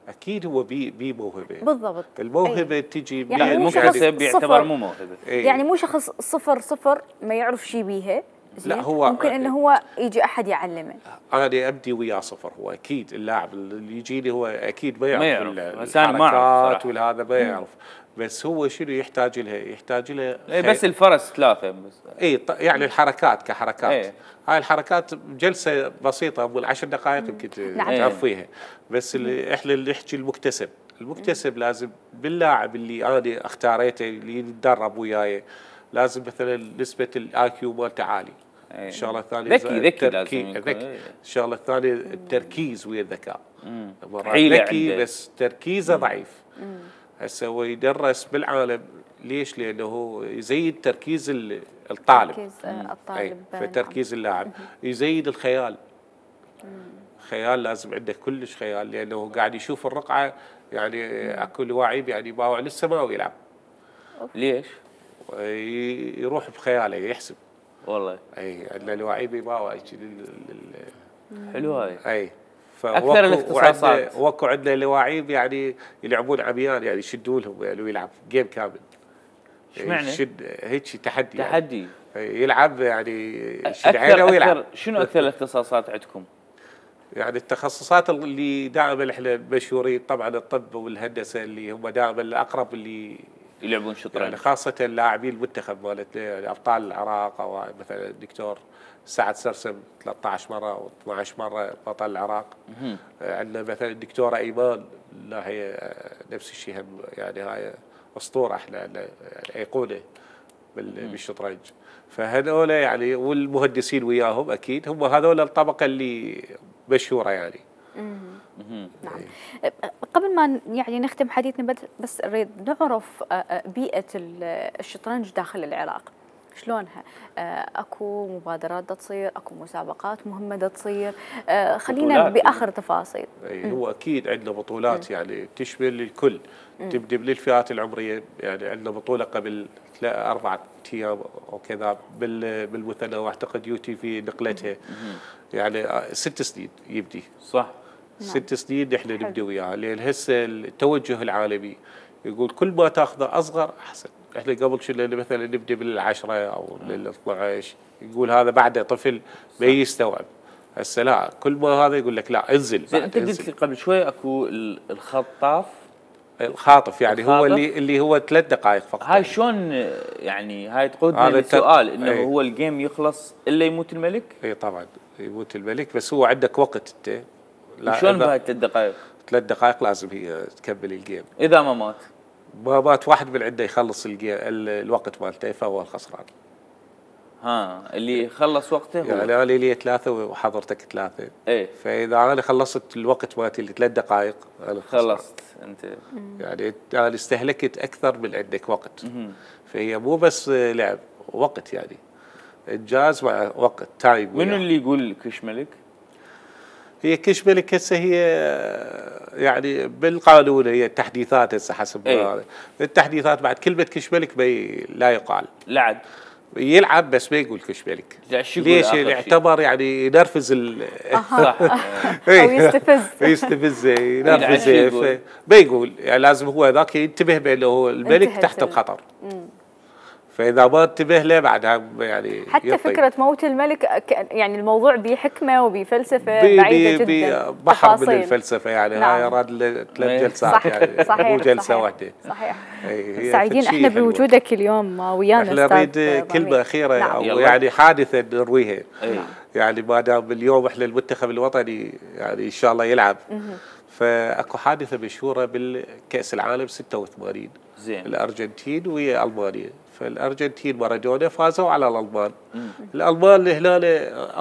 اكيد هو بي بي موهبه بالضبط، الموهبه أي. تجي يعني المكتسب يعتبر مو موهبه، أي. يعني مو شخص صفر صفر ما يعرف شيء بيها، لا هو ممكن انه هو يجي احد يعلمه. انا ابدي وياه صفر، هو اكيد اللاعب اللي يجيني هو اكيد ما يعرف, يعرف. الحركات والهذا ما يعرف، بس هو شنو يحتاج لها؟ يحتاج لها اي بس الفرس ثلاثه بس اي يعني الحركات كحركات ايه. هاي الحركات جلسه بسيطه ابو العشر دقائق يمكن تعرف فيها، بس اللي احنا اللي نحكي المكتسب، المكتسب لازم باللاعب اللي انا اختاريته اللي يتدرب وياي لازم مثلا نسبه الاي كيو مالته عالي. الشغله الثانيه ذكي ذكي لازم ذكي. الشغله الثانيه التركيز ويا الذكاء، ذكي بس تركيزه ضعيف. هسه هو يدرس بالعالم ليش؟ لانه هو يزيد تركيز الطالب، تركيز الطالب فتركيز اللاعب يزيد الخيال. خيال لازم عنده كلش خيال، لانه قاعد يشوف الرقعه يعني اكو لواعيب يعني باوع لسه ما يلعب. ليش؟ يروح بخياله يحسب والله. اي عندنا لواعيب يباوع حلو هاي. اي اكثر الاختصاصات وكو عندنا لواعيب يعني يلعبون عميان يعني يشدوا لهم يعني ويلعب جيم كامل. ايش معنى؟ يشد هيك تحدي تحدي يعني. يلعب يعني يشد عينه ويلعب. شنو اكثر الاختصاصات عندكم؟ يعني التخصصات اللي دائما احنا مشهورين طبعا الطب والهندسه اللي هم دائما الاقرب اللي يلعبون شطرنج، يعني خاصه اللاعبين المنتخب مالت يعني ابطال العراق، او مثلا الدكتور سعد سرسم ثلاثة عشر مره او اثني عشر مره بطل العراق. عندنا مثلا الدكتوره ايمان، لا هي نفس الشيء هم يعني هاي اسطوره احنا يعني ايقونه بالشطرنج. فهذول يعني والمهندسين وياهم اكيد هم هذول الطبقه اللي مشهوره يعني. نعم. قبل ما يعني نختم حديثنا بس نريد نعرف بيئه الشطرنج داخل العراق شلونها؟ اكو مبادرات تصير، اكو مسابقات مهمه تصير، خلينا باخر تفاصيل. اي هو اكيد عندنا بطولات يعني تشمل الكل، تبدي من الفئات العمريه، يعني عندنا بطوله قبل اربعة ايام او كذا بالمثنى، واعتقد يو تي في نقلتها يعني ست سنين يبدي. صح. ست سنين نحن نبدي وياها، لان هسه التوجه العالمي يقول كل ما تاخذه اصغر احسن. احنا قبل كنا مثلا نبدي بالعشرة او بالاثنى عشر، يقول هذا بعده طفل ما يستوعب. هسه لا، كل ما هذا يقول لك لا انزل. انت قلت لي قبل شوي اكو الخطاف الخاطف يعني الخاطف؟ هو اللي اللي هو ثلاث دقائق فقط. هاي شلون يعني هاي تقودنا هذا الت- للسؤال انه إيه. هو الجيم يخلص الا يموت الملك؟ اي طبعا يموت الملك، بس هو عندك وقت انت. لا، شلون إذا- بهاي الثلاث دقائق؟ ثلاث دقائق لازم هي تكمل الجيم. اذا ما مات ما مات واحد من عنده يخلص الجيم ال- الوقت مالته فهو الخسران. ها اللي خلص وقته هو. يعني انا لي ثلاثه وحضرتك ثلاثه. ايه فاذا انا خلصت الوقت مالتي اللي ثلاث دقائق انا الخسران. خلصت انت. يعني انا استهلكت اكثر من عندك وقت. فهي مو بس لعب، وقت يعني انجاز مع وقت تايم. منو اللي يقول كش ملك؟ هي كش ملك هسه هي يعني بالقانون هي التحديثات هسه حسب إيه. هذا. التحديثات بعد كلمه كش ملك بي لا يقال. لعب يلعب بس ما يقول كش ملك. لا، شو يقول ليش؟ آخر شيء؟ يعتبر يعني ينرفز ال صح. او يستفز. يستفز يلعب ينرفز شو يقول؟ ف- ما يقول يعني لازم هو ذاك ينتبه بانه هو الملك انتهت تحت ال- الخطر. فاذا ما انتبه له بعدها يعني حتى يطي. فكرة موت الملك ك- يعني الموضوع بحكمة وبفلسفة بي- بعيدة بي- جدا. بي- بحر من تفاصيل. الفلسفه يعني. نعم. هاي راد له ثلاث إيه. جلسات صح يعني صحيح مو جلسه صحيح. واحده. صحيح. إيه، هي سعيدين فد شي احنا حلوة. بوجودك اليوم ويانا احنا أستاذ نريد ضمير. كلمه اخيره نعم. او يلا. يعني حادثه نرويها. إيه. يعني ما دام اليوم احنا المنتخب الوطني يعني ان شاء الله يلعب. فاكو حادثه مشهوره بالكاس العالم ستة وثمانين. زين. الارجنتين ويا المانيا. فالارجنتين مارادونا فازوا على الالمان. الالمان هنا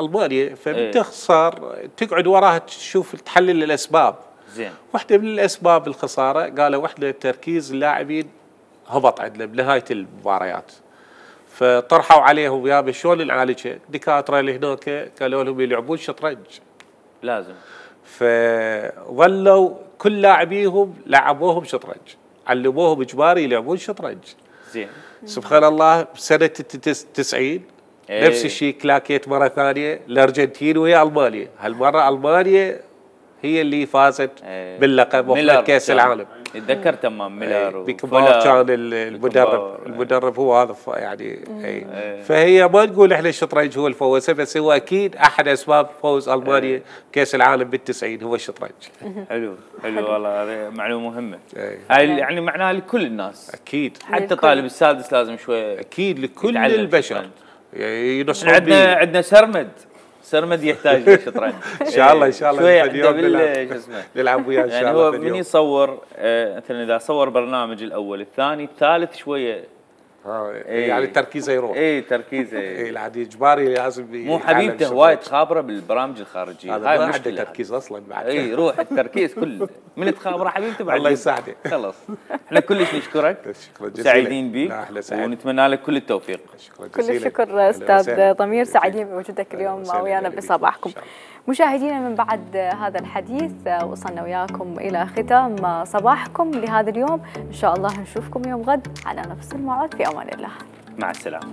المانيا فبتخسر تقعد وراها تشوف تحلل الاسباب. زين. واحده من الاسباب الخساره قالوا احنا تركيز اللاعبين هبط عندنا بنهايه المباريات. فطرحوا عليهم يا شلون نعالجها؟ الدكاتره اللي هناك قالوا لهم يلعبون شطرنج. لازم. فظلوا كل لاعبيهم لعبوهم شطرنج، علموهم اجباري يلعبون شطرنج. زين. سبحان الله بسنه التسعين إيه. نفس الشيء كلاكيت مره ثانيه الارجنتين وهي المانيا، هالمره المانيا هي اللي فازت إيه. باللقب ميلر وخذت كاس كان. العالم. يتذكر تمام ميلر بكبار وفولر. كان ال- المدرب بكبار. المدرب هو هذا ف- يعني اي. إيه. فهي ما نقول احنا الشطرنج هو الفوز، بس هو اكيد احد اسباب فوز المانيا كاس العالم بالتسعين هو الشطرنج. حلو حلو والله هذه معلومه مهمه. إيه. هاي يعني معناها لكل الناس، اكيد حتى للكل. طالب السادس لازم شويه. اكيد لكل يتعلم البشر شطرنج. يعني ينصحون عندنا بيه. عندنا سرمد سرمد يحتاج للشطرنج. ان شاء الله ان شاء الله شويه اليوم عنده بال نلعب شو اسمه نلعب وياه ان يعني شاء هو الله من اليوم. يصور آه، مثلا اذا صور برنامج الاول الثاني الثالث شويه آه، إيه. يعني تركيزه يروح. اي تركيزه اي العادي اجباري لازم مو يتعلم حبيبته شطرنج. وايد خابره بالبرامج الخارجيه. هذا هاي ما عنده مشكله. تركيز اصلا بعد. اي روح التركيز كله من تخابره حبيبته بعد الله يساعده. خلص احنا كلش نشكرك شكرا جزيلا. سعيدين بيك لا، احنا سعيد. ونتمنى لك كل التوفيق. شكرا كل جزيلا. الشكر أهلا استاذ وسهلا. ضمير، جزيلا. سعيدين بوجودك اليوم وسهلا. ويانا أهلا بكم. بصباحكم. إن شاء الله. مشاهدينا من بعد هذا الحديث وصلنا وياكم الى ختام صباحكم لهذا اليوم، ان شاء الله نشوفكم يوم غد على نفس الموعد، في امان الله. مع السلامه.